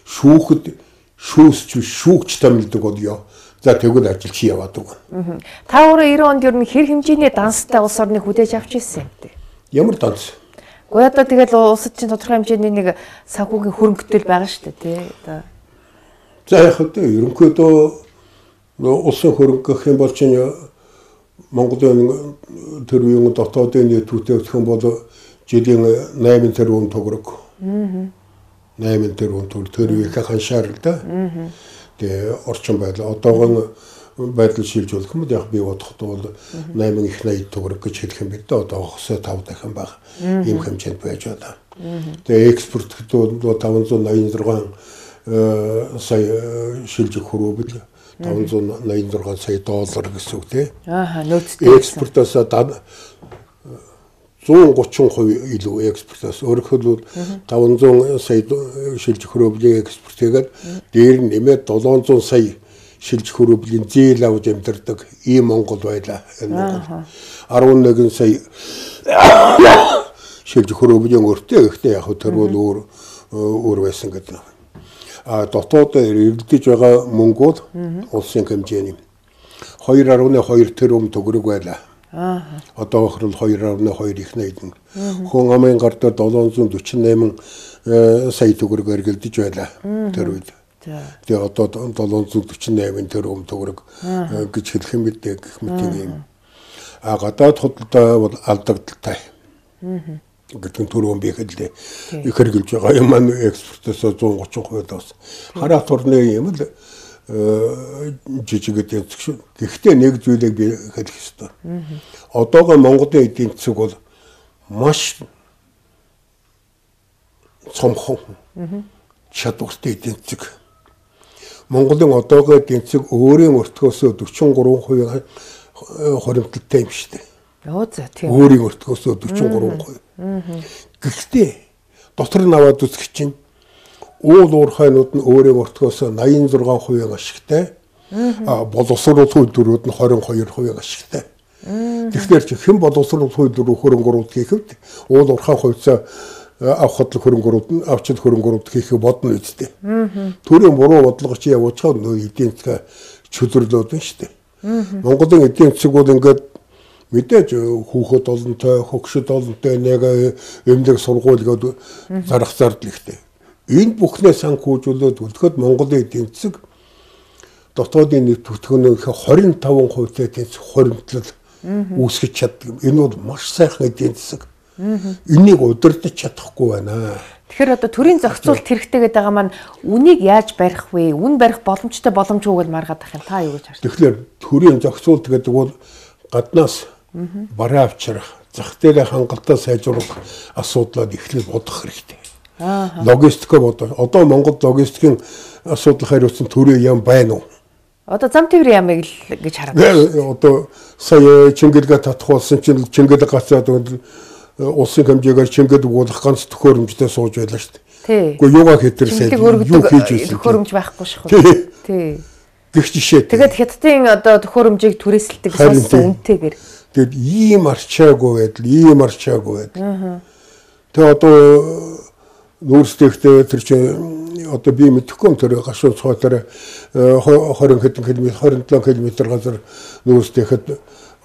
Шүүхэд шүүсч шүүгч томилдог болёо. За тэгвэл ажил чи яваад өгнө. Та өөрөө 90 онд ер нь хэр хэмжээний данстай улс орныг хүлээж авч ирсэн юм бэ? Ямар данс? Гэхдээ одоо тэгэл улсад чинь тодорхой хэмжээний нэг санхүүгийн хөрөнгөтэй байгаа шүү дээ тий. За яг хэвээр ерөнхийдөө улсын хөрөнгө гэх юм бол чинь Монголын тэр үеийн дотоодын нийтүүтэй гэх юм бол жилийн 8 тэрбум төгрөг. 8 тэрбум төгрөг тэр үеийнхээ ханшаар л да. Тэгээ орчин байдал одоогон байдал шилжүүлэх юм яг би бодоход бол 8 их 80 төгрөг гэж хэлэх юм бид одоогоос 5 дахин бага ийм хэмжээнд байж байна. Тэгээ экспорт гэдэг бол 586 сая шилжих хөрвөл 586 сая доллар гэсэн үг тий. Нөөцтэй. Экспортоос 130% илүү экспортоос өөрөөр 500 сая шилжих хөрвөлийн экспорт хийгээд дээр нь нэмээд 700 сая шилжих хөрвөлийн зээл авч амьдардаг ийм Монгол байлаа. Энэ Монгол 11 сая шилжих хөрвөлийн өртөө ихтэй яг тэр бол өөр байсан гэдэг. Дотоод эргэлдэж байгаа мөнгөд улсын хэмжээний 2.2 тэрбум төгрөг байлаа. Одоо охрол 2.2 их найдан. Хүн амын гартаа 748 сая төгрөг эргэлдэж байлаа тэр үед. Тэгээ одоо 748 тэрбум төгрөг гэж хэлэх юм бидээ гэх мэт юм. Гадаад худалдаа бол алдагдaltaй. Гэтэн түрүүн би хэллээ. Их хэрэгжилж байгаа юм маань экспортоос 130% тас. Хараат орны юм л жижиг эдийн засаг. Гэхдээ нэг зүйлийг би хэлэх ёстой. Одоогоо Монголын эдийн засаг бол маш цомхон чадвартай эдийн засаг. Монголын одоогоо эдийн засаг өөрийн өртгөөсөө 43% хоримтлалтай юм шүү дээ. Өөрийн өртгөөсөө 43%. Гэхдээ дотор нь аваад үзэх чинь уул уурхайнууд нь өөрийн өртгөөсөө 86% ашигтай. Боловсрол үйлдвэрүүд нь 22% ашигтай. Тэгэхээр чи хэн боловсрол үйлдвэр хөрөнгөрүүд хийхэд уул уурхай хувьцаа авахд хөрөнгөрүүд нь авчид хөрөнгөрүүд хийхээ бодно үстэй. Төрийн буруу бодлого чи явуучаад нөө эдийн засаг чөлөөрлөөд байна шүү дээ. Монголын эдийн засаг бол ингээд мэдээж хүүхэд олонтой, хөгшөд олонтой нэг эмнэлэг сургуулиуд зарах зардал ихтэй. Энэ бүхнээ санхүүжүүлээд үлдэхэд Монголын эдийн засаг дотоодын нийт бүтээгдэхүүнийхээ 25%-тай эдийн засаг хоримтлал үүсгэж чаддаг. Энэ бол маш сайхан эдийн засаг. Энийг удирдах чадахгүй байна. Тэгэхээр одоо төрийн зохицуулалт хэрэгтэй гэдэг байгаа маань үнийг яаж барих вэ? Үн барих боломжтой боломжгүйг нь маргаад ах юм. Та юу гэж харж байна? Тэгэхээр төрийн зохицуулалт гэдэг бол гаднаас бараа авчрах, зах зээлийн хангалттай сайжруулах асуудлаад эхлээд бодох хэрэгтэй. Логистикээ бодох. Одоо Монгол логистикийн асуудал хариуцсан төрийн яам байна уу? Одоо зам тээврийн ямыг л гэж хараад байна. Одоо сая Чингэлгээ татах болсон чинь Чингэлэг гацаад улсын хэмжээгээр Чингэлэг уулах ганц төхөөрөмжтэй сууж байлаа шүү дээ. Гэхдээ юугаа хэтэрсээ юу хийж ирсэн төхөөрөмж байхгүй шүү. Тий. Гэх жишээ. Тэгээд хятадын одоо төхөөрөмжийг түрээсэлдэг сонсон үнэтэйгээр. Тэгэд ийм арчаагүй байдал. Тэгээ одоо нүүрстэйгтэй тэр чинь одоо би мэдэхгүй тэр гашуун цоотоор 20 хэдэн км 27 км газар нүүрстэйхэд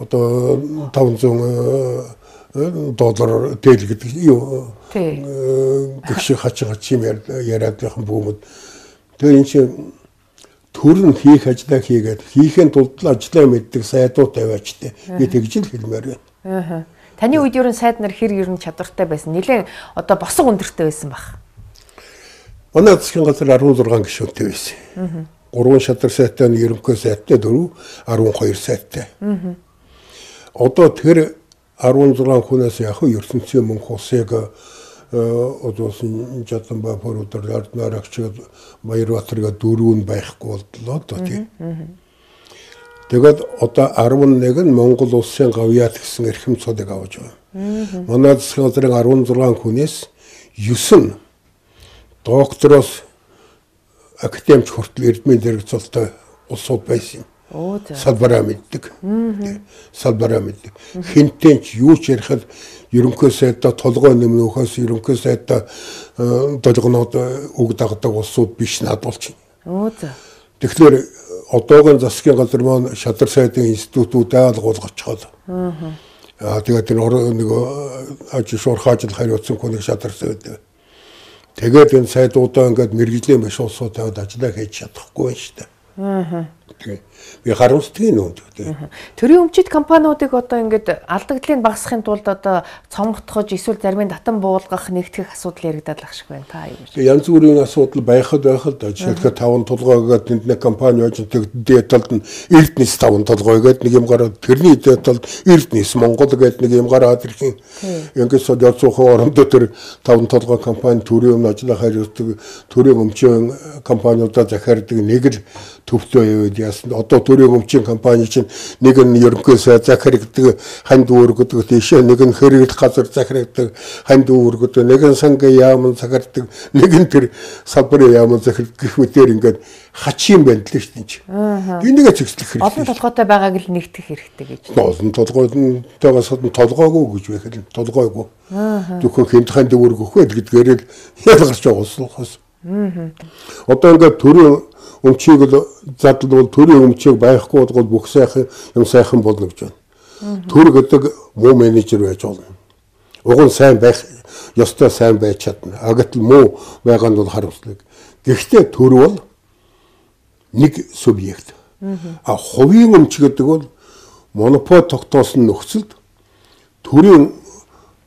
одоо $500 тэл гэдэг юу гэх хачим яриад яхан бүүмэд тэр энэ чинь төрн хийх ажлаа хийгээд хийхин тулд ажлаа мэддэг сайдуу тавиачтай би тэгж л хэлмээр байна. Таны үед ерөн сайд нар хэр ерөн чадвартай байсан? Нилээн одоо босго өндөртэй байсан баг. Манай засгийн газар 16 гишүүнтэй байсан. 3 шадар сайтай, ерөнхий сайтай, 4 12 сайтай. Одоо тэр 16 хүнээс яг ертөнцийн мөнх усыг одоосын Жаданбай поруудаар арднарагч Баярбатарга 4 байхгүй боллоо одоо тийм. Тэгээд одоо 11 нь Монгол улсын гавьяат гэсэн эрхэм цодыг авч байгаа. Манай засгийн газрын 16 хүнээс 9 нь доктороос академич хүртэл эрдмийн зэрэгцэлтэй улсууд байсан. Салбараа мэддэг. Салбараа мэддэг. Хинтэнч юу ч ярихад ерөнхий сайдаа толгой нэмнөхөөс ерөнхий сайдаа долгоноод үг дагдаг улсууд биш надуулж байна. Тэгэхээр одоогийн засгийн газар маань шадар сайдын институтүүд айлгуулгачаад. Тэгээд тэр нэг ажил хариуцсан хүнийг шадар сайд. Тэгээд энэ сайдуудаа ингээд мэрэгжлийн биш улсууд тавьад ажиллаа хийж чадахгүй байна шүү дээ. Би харамсдаг юм. Төрийн өмчит компаниудыг одоо ингээд алдагдлыг багасгахын тулд одоо цомготгож эсвэл зарим нь татан буулгах нэгтгэх асуудал яригдаад ах шиг байна. Та юу гэж? Янз бүрийн асуудал байхад да. Жишээлбэл 5 толгойгээд нэг компани очиж дээд талд нь Эрдэнэс 5 толгойгээд нэг юм гараад тэрний дээд талд Эрдэнэс Монгол гээд нэг юм гараад ирэх юм. Ингээд содиоцох орондоо тэр 5 толгой компани төрийн өмнө ажиллах хариуцдаг төрийн өмчийн компаниудаа захиардаг нэг л төвтэй яваад яасан. Одоо төрийн өмчийн компани чинь нэг нь ерөнхий сайд захирагдаг ханд үүргэдэг тийшээ нэг нь хэрэглэх газар захирагдаг ханд үүргэдэг нэг нь сангийн яам захирагдаг нэг нь тэр салбарын яам захирагдаг гэх мэтээр ингээд хачим байна л шүү дээ. Энийг зэгслэх хэрэгтэй. Олон толгойтой байгааг л нэгтгэх хэрэгтэй гэж. Олон толгойтойгоос толгойгүй гэж байх л толгойгүй. Зөвхөн хинт ханд үүргэх вэ гэдгээр л ялгарч байгаа улсаас. Одоо ингээд төрийн өмчийг л задлал төрийн өмчийг байхгүй бол бүх сайхан юм сайхан болно гэж байна. Төр гэдэг муу менежер байж болно. Уг нь сайн байх ёстой сайн байж чадна. Гэтэл муу байгаа нь бол харамслаг. Гэхдээ төр бол нэг субъект. Хувийн өмч гэдэг бол монопол тогтоосон нөхцөлд төрийн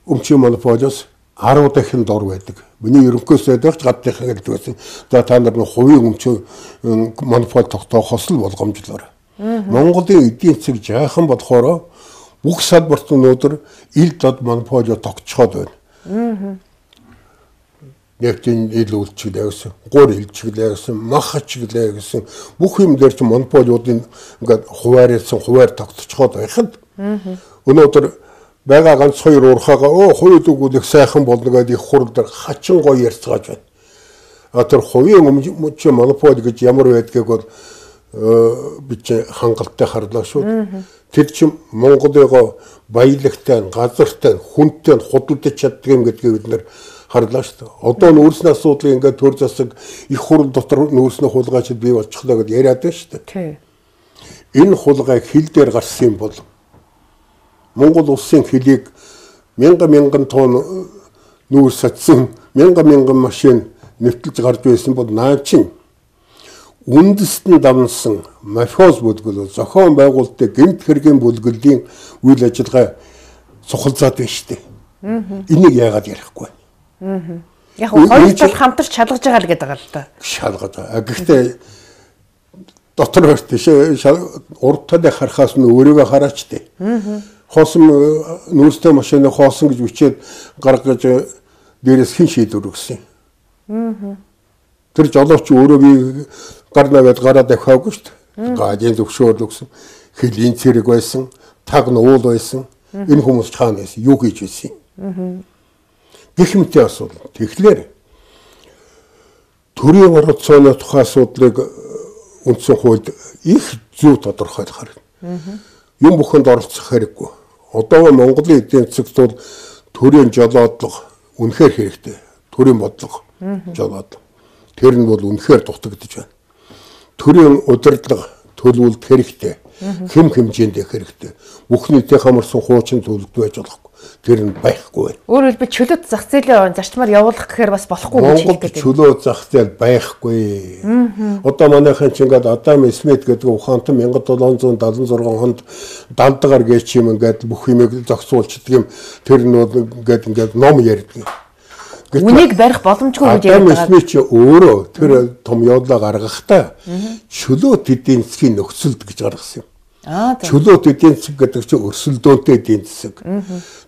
өмчийн монополиос 10 дахин дор байдаг. Миний ерөнхий сайдаач гадныхан гэдэг байсан. За та нар хувийн өмчийн монопол тогтоохоос л болгоомжлоор. Монголын эдийн засаг жаахан болохоор бүх салбарт өнөөдөр ил дод монополио тогтцоход байна. Нефтийн ил үйлчилгээ гэсэн, гур илчилгээ гэсэн, мах ачиглээ гэсэн бүх юм дээр чинь монополиудын ингээд хуваар тогтцоход байхад өнөөдөр байгаа ганц хоёр уурхаага хувийн дүгүүлэх сайхан болно гэдэг их хурл дээр хачин гоё ярьцгааж байна. Тэр хувийн өмчийн монопол гэж ямар байдгийг бол би чи хангалттай харлаа шүү. Тэр чинь Монголыгоо баялагтай, газартай, хүнтэй худалдаж чаддаг юм гэдгийг бид нэр харлаа шүү. Одоо нүүрсний асуудлыг ингээд төр засаг их хурл дотор нүүрсний хулгайч бий болчихлоо гэж яриад байна шүү. Энэ хулгайг хил дээр гарсан юм бол Монгол улсын хөлийг мянган тонн нүүрс сатсан мянган машин нэвтэлж гарч байсан бол наа чин үндэстэн давнсан мафиоз бүлгэл зохион байгуулалтын гэмт хэргийн бүлгэлийн үйл ажиллагаа цухалзаад байна шүү дээ. Энийг яагаад ярихгүй байна? Яг хоёр тал хамтарч шалгаж байгаа л гэдэг байгаа л да. Шалгаж байгаа. Гэхдээ дотор хөрт тийш урд талыг харахаас нь өөрийгөө хараач дээ. Хоосон нүүрстэй машины хоосон гэж үчээд гаргаж дээрээс хин шийдвэр өгсөн. Тэр жолооч өөрөө би гар наваад гараа дахиагүй шүү дээ. Гадийн зөвшөөрөл өгсөн. Хэлийн цэрэг байсан, таг нуул байсан. Энэ хүмүүс чаана байсан. Юу хийж байсан? Гэх мэтийн асуудал. Тэгэхээр төрийн оролцооны тухай асуудлыг үндсэн хуульд их зөв тодорхойлох хэрэгтэй. Юм бүхэнд оролцох хэрэггүй. Одоо Монголын эдийн засагт бол төрийн жолоодлого үнэхээр хэрэгтэй. Төрийн бодлого жолоодлого. Тэр нь бол үнэхээр дутагдж байна. Төрийн удирдлага төлөвлөлт хэрэгтэй. Хэм хэмжээнд хэрэгтэй. Бүх нийтийн хамарсан хуучин төлөвлөлт байж болохгүй. Тэр нь байхгүй байна. Өөрөөр хэлбэл чөлөөт зах зээлийн зарчмаар явуулах гэхээр бас болохгүй гэж хэлдэг. Монголд чөлөө зах зээл байхгүй. Одоо манайхан ч ингээд Адам Смит гэдэг ухаантан 1776 онд далдгаар гээч юм ингээд бүх юмыг зохицуулчихдаг юм. Тэр нь бол ингээд ном ярьдаг. Үнийг барих боломжгүй гэж ярьдаг. Адам Смит ч өөрөө тэр том явдлаа гаргахдаа чөлөөт эдийн засгийн нөхцөлд гэж гаргасан юм. Чөлөөт эдийн засаг гэдэг чинь өрсөлдөөнтэй эдийн засаг.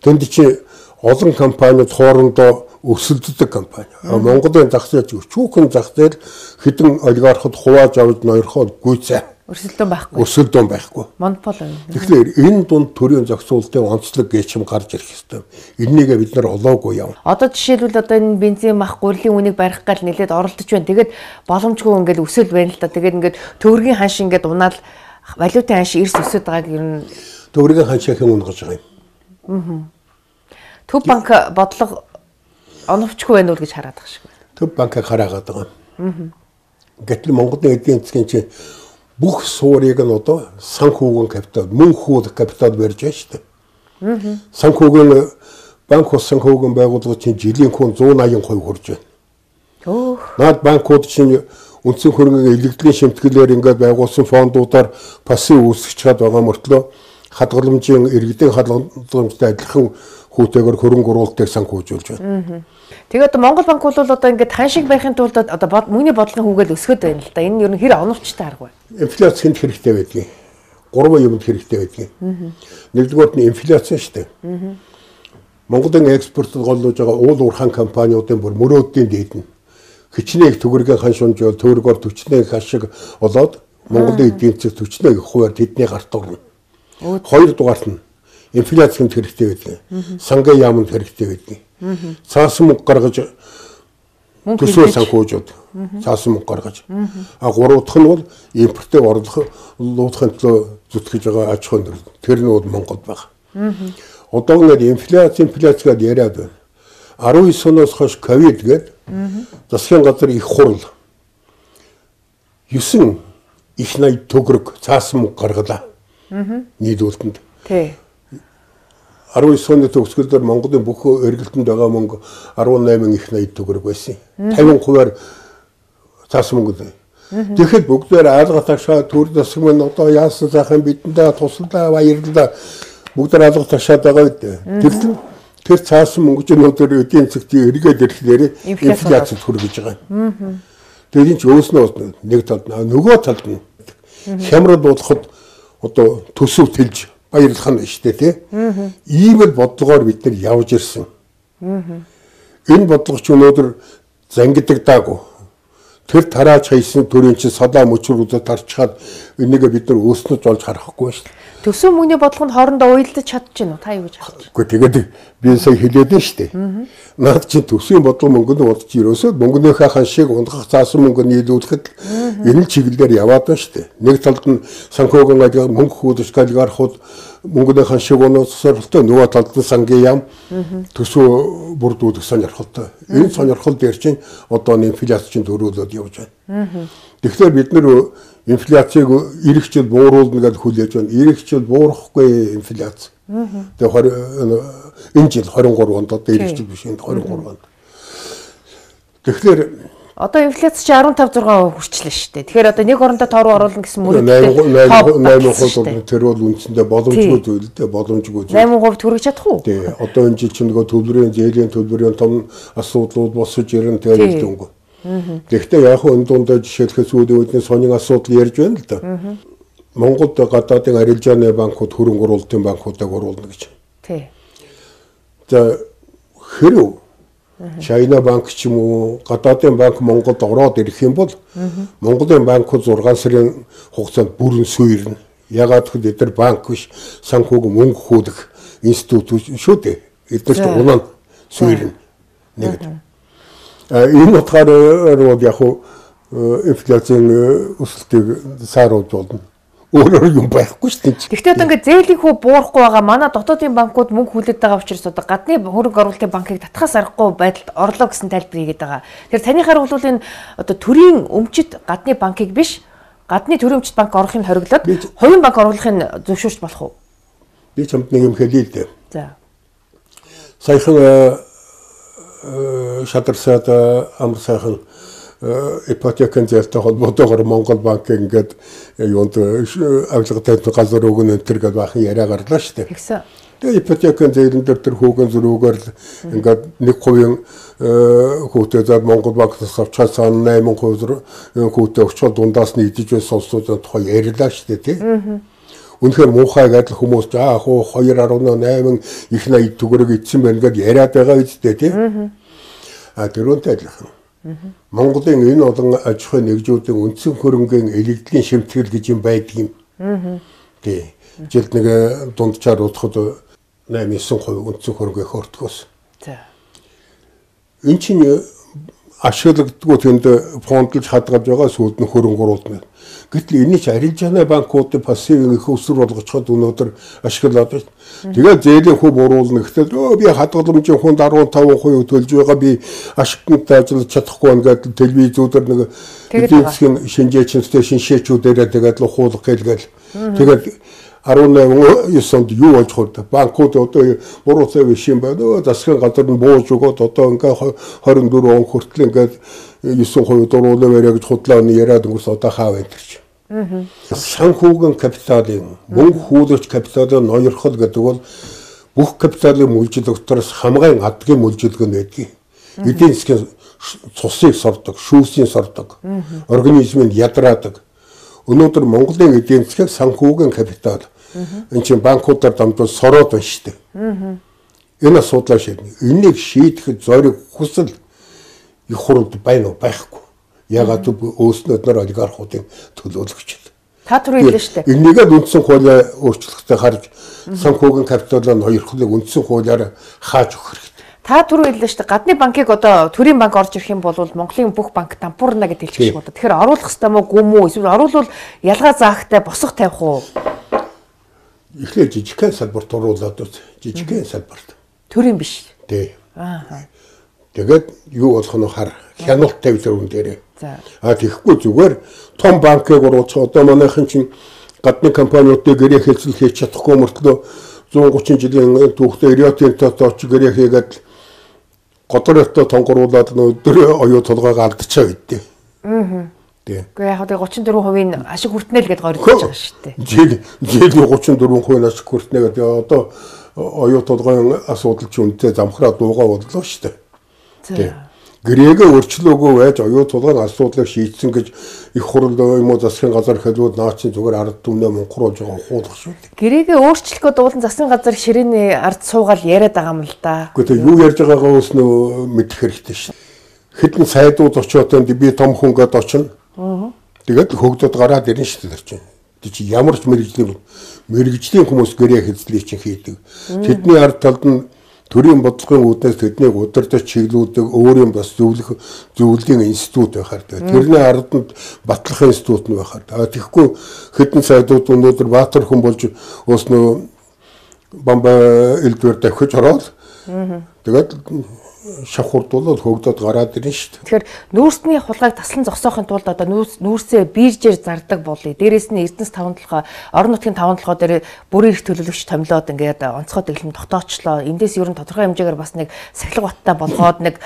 Тэнд чинь олон компаниуд хоорондоо өрсөлддөг компани. Монголын зах зээл өчүүхэн зах зээл хэдэн олигархад хувааж авч ноёрхоод гүйцээ. Өрсөлдөөн байхгүй. Өрсөлдөөн байхгүй. Монопол. Тэгэхээр энэ дунд төрийн зохицуулалтын онцлог гэж юм гарч ирэх ёстой. Энийгээ бид нар олоогүй яв. Одоо жишээлбэл одоо энэ бензин мах гурилын үнийг барих гал нэлээд оролдож байна. Тэгээд боломжгүй ингээд өсөл байна л та. Тэгээд ингээд төгрөгийн ханш ингээд унаал валютын ханш эрс өсөд байгааг ер нь төгрөгийн ханшийн унгаж байгаа юм. Төв банк бодлого оновчгүй байна уу гэж хараад байгаа шиг байна. Төв банкыг хараагаад байгаа. Гэтэл Монголын эдийн засгийн чинь бүх суурийг нь одоо санхүүгийн капитал, мөн хууль капитал барьж байна шүү дээ. Санхүүгийн банк ус санхүүгийн байгууллага чинь жилийн хүн 180% хүрж байна. Наад банкуд чинь үндсэн хөрөнгөний илэгдлийн шимтгэлээр ингээд байгуулсан фондуудаар пассив үүсгэж чад байгаа мөртлөө хадгаламжийн иргэдийн хадгаламжтай адилхан хүүтэйгээр хөрөнгө оруулалтыг санхүүжүүлж байна. Тэгээд Монгол банк бол одоо ингээд ханшиг байхын тулд одоо мөнгөний бодлогын хүүгээл өсгöd байна л да. Энэ нь ер нь хэр оновчтой арга байна. Инфляц хэнд хэрэгтэй байдгийг. 3 юмд хэрэгтэй байдгийг. Нэгдүгээрт нь инфляци шүү дээ. Монголын экспортод голлож байгаа уул уурхайн компаниудын бүр мөрөөдлийн дээд нь хичнээн төгрөгийн ханшуунжуул төгрөгөөр 40-ны хашиг болоод Монголын эдийн засаг 40-ны хувиар тэдний гарт орно. Хоёрдугаарт нь инфляцид хэрэгтэй байдаг. Сангийн яамд хэрэгтэй байдаг. Цаасан мөнгө гаргаж төсөө санхүүжууд цаасан мөнгө гаргаж. Гурав дахь нь бол импортыг орлуулахын төлөө зүтгэж байгаа аж ахуйн нөхцөл. Тэр нь бол Монголд байгаа. Одоо ингээд инфляцгээд яриад байна. 19 оноос хойш ковид гээд засгийн газар их хурал 9 их 80 төгрөг цаасан мөнгө гаргалаа. Нийлүүлтэнд. Тий. 19 оны төгсгөлдөр Монголын бүх эргэлтэнд байгаа мөнгө 18 их 80 төгрөг байсан. 50%-аар цаасан мөнгө. Тэгэхэд бүгдээр аалга ташаа төр засаг мань одоо яасан сайхан бидэндээ туслалаа баярлалаа бүгдээр аалга ташаад байгаа үү. Тэр цаасан мөнгө чинь өнөөдөр эдийн засгийн эргээд ирэхлээр инфляцид хүргэж байгаа. Тэгээд энэ ч өөснөө нэг талд нөгөө талд нь хямрал болоход одоо төсөв тэлж баярлах нь шүү дээ тий. Ийм л бодлогоор бид нар явж ирсэн. Энэ бодлого ч өнөөдөр зангидагдаагүй. Тэр тарааж хайсан төрийн чинь садаа мөчрүүдэд тарчхаад энийг бид нар өөснөж олж харахгүй шүү дээ. Төсөв мөнгөний бодлого нь хоорондоо уялдаж чадчихна уу? Та юу гэж харж байна? Гэхдээ тэгээд би сая хэлээд нь шүү дээ. Наад чи төсвийн бодлого мөнгөнд урдч ерөөсөө мөнгөнийхөө ханшийг унгах заасан мөнгө нийлүүлэхэд энэ чиглэлээр яваад байна шүү дээ. Нэг талд нь санхүүгийн ажил мөнгө хөөдөж олигархууд мөнгөний ханшийг унгахсаралтай, нөгөө талд нь сангийн яам төсөө бүрдүүлэх сонирхолтой. Энэ сонирхол дээр чинь одоо инфляц чинь төрүүлээд явж байна. Тэгэхээр бид нэр инфляцийг ирэх жил бууруулна гэж хүлээж байна. Ирэх жил буурахгүй инфляц. Тэгээ энэ жил 23 онд одоо ирэх жил биш энэ 23 онд. Тэгэхээр Одоо инфляц чи 15-6% хүрчлээ шүү дээ. Тэгэхээр одоо нэг орондоо тоо руу оруулна гэсэн мөрөдтэй 8% тэр бол үндсэндээ боломжгүй зүйл дээ, боломжгүй зүйл. 8% төрөж чадах уу? Тий. Одоо энэ жил чинь нөгөө төлбөрийн зээлийн төлбөрийн том асуудлууд босож ирэн тэгээд өнгө. Гэхдээ яг хөө энэ дундаа жишээлхээс үүдний сонин асуудал ярьж байна л да. Монголд гадаадын арилжааны банкуд хөрөнгө оруулалтын банкуудыг оруулна гэж. Тий. За хэрв China банк ч юм уу гадаадын банк Монголд ороод ирэх юм бол Монголын банкуд 6 сарын хугацаанд бүрэн суурна. Ягаад гэвэл эдгээр банк биш санхүүг мөнгө хөөдөх институт шүү дээ. Эдгээрт улаан суурна. Нэг. Энэ утгаараа яг инфляцийн өсөлтийг сааруулж болно. Өөрөөр юм байхгүй шүү дээ. Гэхдээ одоо ингээд зээлийн хүү буурахгүй байгаа манай дотоодын банкуд мөнгө хүлээд байгаа учраас одоо гадны хөрөнгө оруулалтын банкыг татхаас аргагүй байдалд орлоо гэсэн тайлбар хийгээд байгаа. Тэгэхээр таны харах бол энэ одоо төрийн өмчит гадны банкыг биш гадны төрийн өмчит банк орохыг хориглоод хувийн банк оруулахыг зөвшөөрч болох уу? Би чамд нэг юм хэлье л дээ. За. Саяхан шадарсаад амар сайхан ипотекийн зээлтэй холбоотойгоор Монгол банк ингээд юунд авилгатай газар өгнө энэ төр гэж бахан яриа гарлаа шүү дээ. Тэгсэн. Тэгээ ипотекийн зээлэн дээр тэр хүүгэн зөрүүгээр ингээд 1% хүүтэй зад Монгол банкнаас авчаад 8% хүүтэй өчгөл дундаас нь идэж байсан сонсоод тухай ярьлаа шүү дээ тий. Үнэхээр муухай гэдэл хүмүүс яг 2.8 их 80 төгрөг идсэн байна гэдээ яриад байгаа үстэй тий. Тэрүүнтэй адилхан. Монголын энэ олон аж ахуйн нэгжүүдийн үндсэн хөрөнгөний элэгдлийн шимтгэл гэж юм байдаг юм. Тий. Жилд нэг дунджаар удахад 8-9% үндсэн хөрөнгө хөртгөөс. За. Энд чинь ашиглагддгүй тэнд фондлж хадгалж байгаа сүйд нь хөрөнгө оруулна. Гэтэл энэ ч арилжааны банкуудын пассивын их өсвөр болгочход өнөөдөр ашиглаад байна. Тэгээд зээлийн хөв уруулна гэхдээ би хадгаламжийн хүнд 15% төлж байгаа би ашигтай ажиллаж чадахгүй байна гэдэг телевизүүдээр нэг эдийн засгийн шинжээчнтэй шинжээчүүдээрээ тэгээд л хуулах гэлгээл. Тэгээд 18 онд юу болж хурд банкуд одоо буруу цав шин байна. Засгийн газар нь бууж өгөөд одоо ингээ 24 он хүртэл ингээд 9% дөрвөлөө бариа гэж худлаа яриад өнгөрс одоо хаав энтерч. Санхүүгийн капиталын мөнгө хүүлэгч капиталын ноёрхол гэдэг бол бүх капиталын мүлжил дотроос хамгийн адгийн мүлжилг нь байдгийг. Эдийн засгийн цусыг сордог, шүүсийг сордог, организмыг ядраадаг. Өнөөдөр Монголын эдийн засгийн санхүүгийн капитал энэ чинь банкудаар дамжуул сороод байна шүү дээ. Энэ асуудлаа шийднэ. Энийг шийдэхэд зориг хүсэл их хурд байна уу байхгүй. Ягаад гэвэл өөрснөөр олигархуудын төлөөлөгч. Та түрүү хэллээ шүү дээ. Энийгээ үндсэн хуулиа өөрчлөлтөд харж санхүүгийн капиталын ноёрхлыг үндсэн хуулиар хааж өгөх хэрэгтэй. Та түрүү хэллээ шүү дээ. Гадны банкыг одоо төрийн банк орж ирэх юм бол Монголын бүх банк дампуурна гэж хэлчих шиг байна. Тэгэхээр оруулах хэрэгтэй мó гүм үү? Эсвэл оруулвал ялгаа заахтай босох тавих уу? Эхлээд жижигхэн салбарт оруулаад үз. Жижигхэн салбарт. Төрийн биш. Тий. Тэгээд юу болох нь хар хяналт тавьлаа үн дээрээ. За. Тэгэхгүй зүгээр том банкыг оруулах одоо манайхан чинь гадны компаниудыг гэрээ хэлцэл хийж чадахгүй мөртлөө 130 жилийн түүхтэй Риотын тооч гэрээ хийгээд годортой тонгоруулаад өдөр оюу толгойг алдчихаа гэдээ. Тий. Гэхдээ яг 34% ашиг хүртнэ л гэдээ горьж байгаа шүү дээ. Жилийн 34% ашиг хүртнэ гэдэг одоо оюу толгойн асуудал ч үнэтэй замхраа дуугаа бодлоо шүү дээ. Тий. Гэрээгээ өөрчлөөгөө байж оюу толгойн асуудлыг шийдсэн гэж их хурл юм уу засгийн газар хэлбүүд наачин зүгээр ард түмнээ мунхруулж байгаа хуулах шүү дээ. Гэрээгээ өөрчлөхөд дуулан засгийн газар ширээний ард суугаал яриад байгаа юм л да. Гэхдээ юу ярьж байгаагаа өснөө мэдэх хэрэгтэй шүү. Хэдэн сайдууд очиод би том хүнгээд очино. Тэгээд хөгдөд гараад ирнэ шүү дээ чинь. Тэг чи ямар ч мэрэгжлийн хүмүүс гэрээ хэзлийг чинь хийдэг. Тэдний ард талд нь төрийн бодлогын үүднээс тэднийг удирдах чиглүүлдэг өөрийн бас зөвлөлийн институт байхаар. Тэрний арданд батлах институт нь байхаар. Тэгэхгүй хэдэн сайдууд өнөөдөр баатар хүн болж өөснөө бамба элдвэр давхиж ороод тэгээд шавхурдуулаад хөгдөд гараад ирнэ шүү дээ. Тэгэхээр нүүрсний хулгайг таслан зогсоохын тулд одоо нүүрсээ биржээр зардаг болъё. Дээрээс нь Эрдэнэс 5-7 орон нутгийн 5-7 дээр бүрийн эрх төлөөлөгч томилоод ингээд онцгой дэглэм тогтоочлоо. Эндээс ер нь тодорхой хэмжээгээр бас нэг сахилга баттай болгоод нэг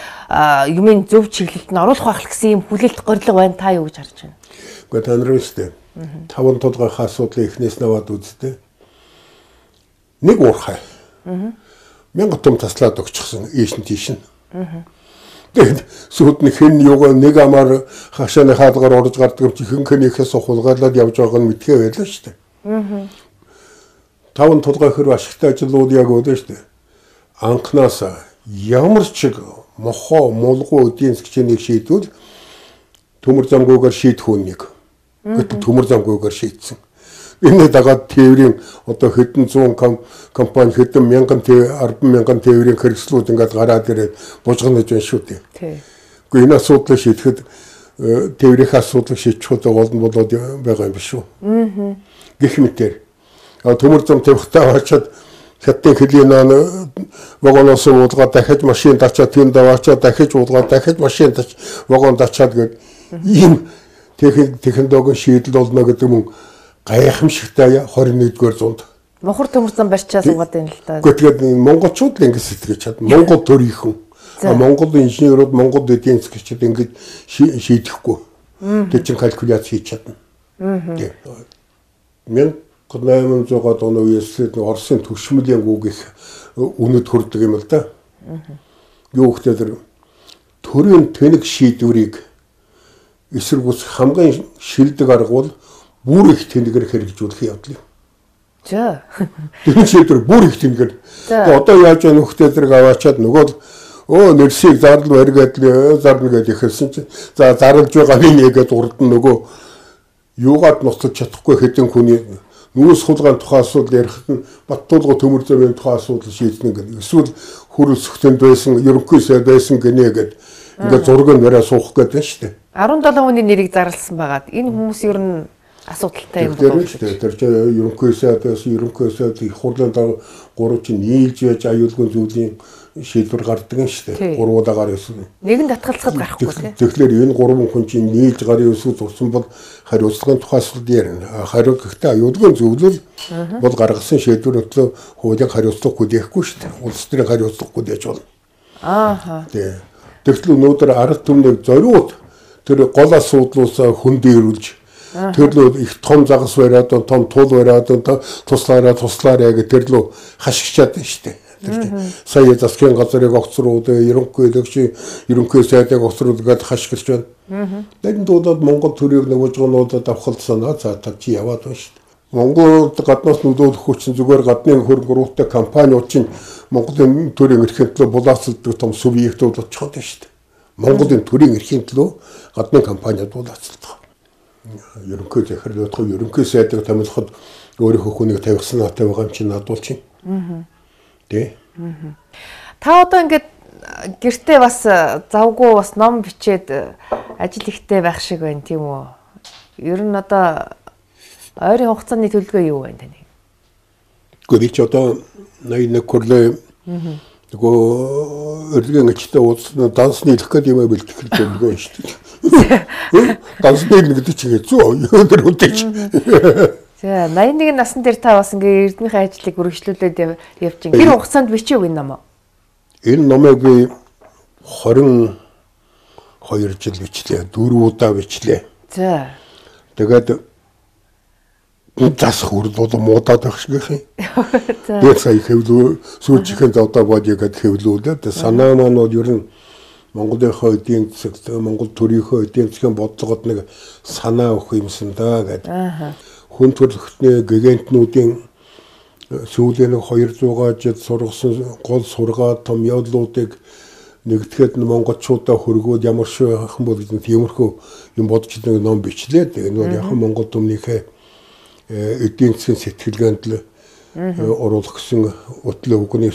юмын зөв чиглэлд нь оруулах байх гэсэн юм хүлээлт горилго байна. Та юу гэж харж байна? Гэхдээ та нар үстэй 5-7 асуудлыг эхнээс наваад үзтээ. Нэг уурхай. 1000 том таслаад өгчихсөн ийш нь тийш нь. Тэгээд сүйдний хэн юугаа нэг амаар хашааны хаалгаар орж гардаг юм чи хэнхэнийхээс хулгайлаад явж байгаа нь мэдхээ байлаа шүү дээ. 5-7 хөр ашигтай ажлууд яг өөдөө шүү дээ. Анхнаас ямар ч мохоо мулгуу эдийн засгийн шийдвэл төмөр замгүйгээр шийдэх үнийг. Гэтэл төмөр замгүйгээр шийдсэн. Энэ дагаад тээврийн одоо хэдэн 100 компани хэдэн 100000 тээврийн хэрэгслүүд ингээд гараад ирээд бужгана гэж байна шүү дээ. Гэхдээ энэ асуудлыг шийдэхэд тээврийн асуудлыг шийдэх удаа болно болоод байгаа юм биш үү? Гэх мэтээр төмөр зам тавихтаа очиад хятадын хөлийн вагоноос уулгаад дахиж машин дачаад тэнд даваачаад дахиж уулгаад дахиж машин тач вагон дачаад гээд ийм технологийн шийдэл болно гэдэг юм гайхамшигтай 21-р зуунд. Мохор төмөр зам барьчаа суугаад байна л да. Тэгээд монголчууд л ингэ сэтгэж чад. Монгол төрийнхэн. Монгол инженерууд, Монгол эдийн засгчид ингэ шийдэхгүй. Тэг чин калкуляц хийж чадна. 1800-аад оны үеэс Оросын төвшмөлийн үг их үнэт хүрдэг юм л да. Юу гэхээр төрийн тэнэг шийдвэрийг эсэргүүц хамгийн шилдэг арга бол бүр их тэнэгээр хэрэгжүүлэх явдал юм. За. Тэр шийдвэр бүр их тэнэгээр. Одоо яаж яа нөхдөд зэрэг аваачаад нөгөө нэрсийг зарлал барьгаад зарна гэж ихэлсэн чинь за зарлж байгаа нэгээд урд нь нөгөө юугаад ноцож чадахгүй хэдэн хүний нүүрс хулгайн тухай асуудал ярихад нь Баттуулга төмөр замын тухай асуудал шийднэ гэдэг. Эсвэл хөрөлсөхтөнд байсан, ерөнхий сайд байсан гинэ гэдэг. Ингээд зураг нь бариа суух гэдэг шүү дээ. 17 хүний нэрийг зарласан байгаад энэ хүмүүс ер нь асуудалтай юм болов уу? Тэр чинь ерөнхий сайд их хурлын 3 чинь нийлж байж аюулгүй зүйлийн шийдвэр гардаг юм шүү дээ. 3 удаагаар эсвэл нэгэн татгалзахад гарахгүй тийм. Тэгэхээр энэ 3 хүн чинь нийлж гарын өсвөл зурсан бол хариуцлагын тухай асуудал ярина. Хариу гэхдээ аюулгүй зөвлөл бол гаргасан шийдвэр өтлөө хуулийн хариуцлага хүлээхгүй шүү дээ. Улс төрийн хариуцлага хүлээж болно. Тэгтэл өнөөдөр арга түмнийг зориуд тэр гол асуудлаас хөндөрүүлж тэрлөө их том загас бариад том тул бариад туслаараа гэх тэрлөө хашигчаад байна шүү дээ. Сая засгийн газрыг огцрууд ерөнхий сайдыг огцрууд гээд хашгирч байна. Тэгэн дуудаад Монгол төрийг нөгөөжгөнүүдэд авахлцсанаа за чи яваад байна шүү дээ. Монголд гаднаас нөлөөлөх хүчин зүгээр гадны хөрөнгө оруулалттай компаниуд чинь Монголын төрийн эрхийн төлөө булаацалдаг том субъектууд болчиход байна шүү дээ. Монголын төрийн эрхийн төлөө гадны компаниуд булаацалдаг. Ерөнхий захирлуудах ерөнхий сайдыг томилоход өөрийнхөө хүнийг тавьсан натай байгаа юм чинь надуул чинь. Тэ. Та одоо ингээд гэртээ бас завгүй бас ном бичээд ажил ихтэй байх шиг байна тийм үү? Ер нь одоо ойрын хугацааны төлөвлөгөө юу байна таны? Гэхдээ чи одоо 81 хүрлээ нөгөө өрлөгийн ачтай уулзсан дансны хэлэх гэдэг юм бэлтгэх төлөвлөгөө шүү дээ. Дансны гэдэг чинь хэцүү өндөр үдэж. За 81 насны дээр та бас ингээ эрдэнэхийн ажлыг үргэлжлүүлээд явж байна. Тэр хугацаанд бичээв энэ ном. Энэ номыг би 22 жил бичлээ. 4 удаа бичлээ. За. Тэгээд засах үрд бол муудаад байх шиг юм. Тэгээд сая хэвлүү сүүлчийн завдаа бодё гэд хэвлүүлээд санаа маань бол ер нь Монголынхоо эдийн засаг, Монгол төрийнхөө эдийн засгийн бодлогод нэг санаа өгөх юмсан даа гэдэг. Хүн төрөлхтний гигантнуудын сүүлийн 200 жил сургасан гол сургаа том явдлуудыг нэгтгэхэд монголчуудаа хөргөөд ямар шиг байх юм бол гэдэг тиймэрхүү юм бодож нэг ном бичлээ. Энэ бол яг Монгол төмнийхээ эдийн засгийн сэтгэлгээнд л оруулах гэсэн өтлөө үгний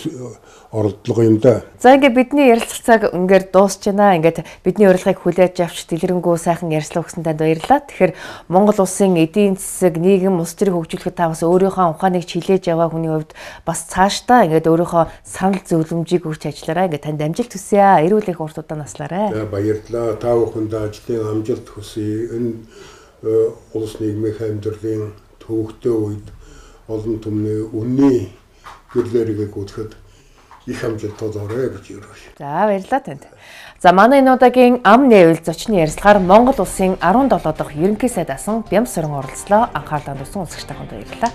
оролдлого юм да. За ингээд бидний ярилцах цаг ингээд дуусч байна. Ингээд бидний урилгыг хүлээж авч дэлгэрэнгүй сайхан ярьслаа өгсөн танд баярлалаа. Тэгэхээр Монгол улсын эдийн засаг, нийгэм, улс төрийг хөгжүүлэхэд та бас өөрийнхөө ухааныг чилээж яваа хүний хувьд бас цаашдаа ингээд өөрийнхөө санал зөвлөмжийг өгч ажиллаарай. Ингээд танд амжилт хүсье. Эрүүл их урт удаа наслаарай. За баярлалаа. Та бүхэнд ажлын амжилт хүсье. Энэ улс нийгмийн амьдралын төвөгтэй үед олон түмний үнний гэрлэрийг гүтгэхэд их амжилтууд орой гэж өрөв. За баярлалаа танд. За манай энэ удаагийн ам нээвэл зочны ярилцлагаар Монгол улсын 17 дахь ерөнхий сайд асан Бямс Сорон оролцлоо. Анхаарлаа хандуулсан үзэгч таханд баярлалаа.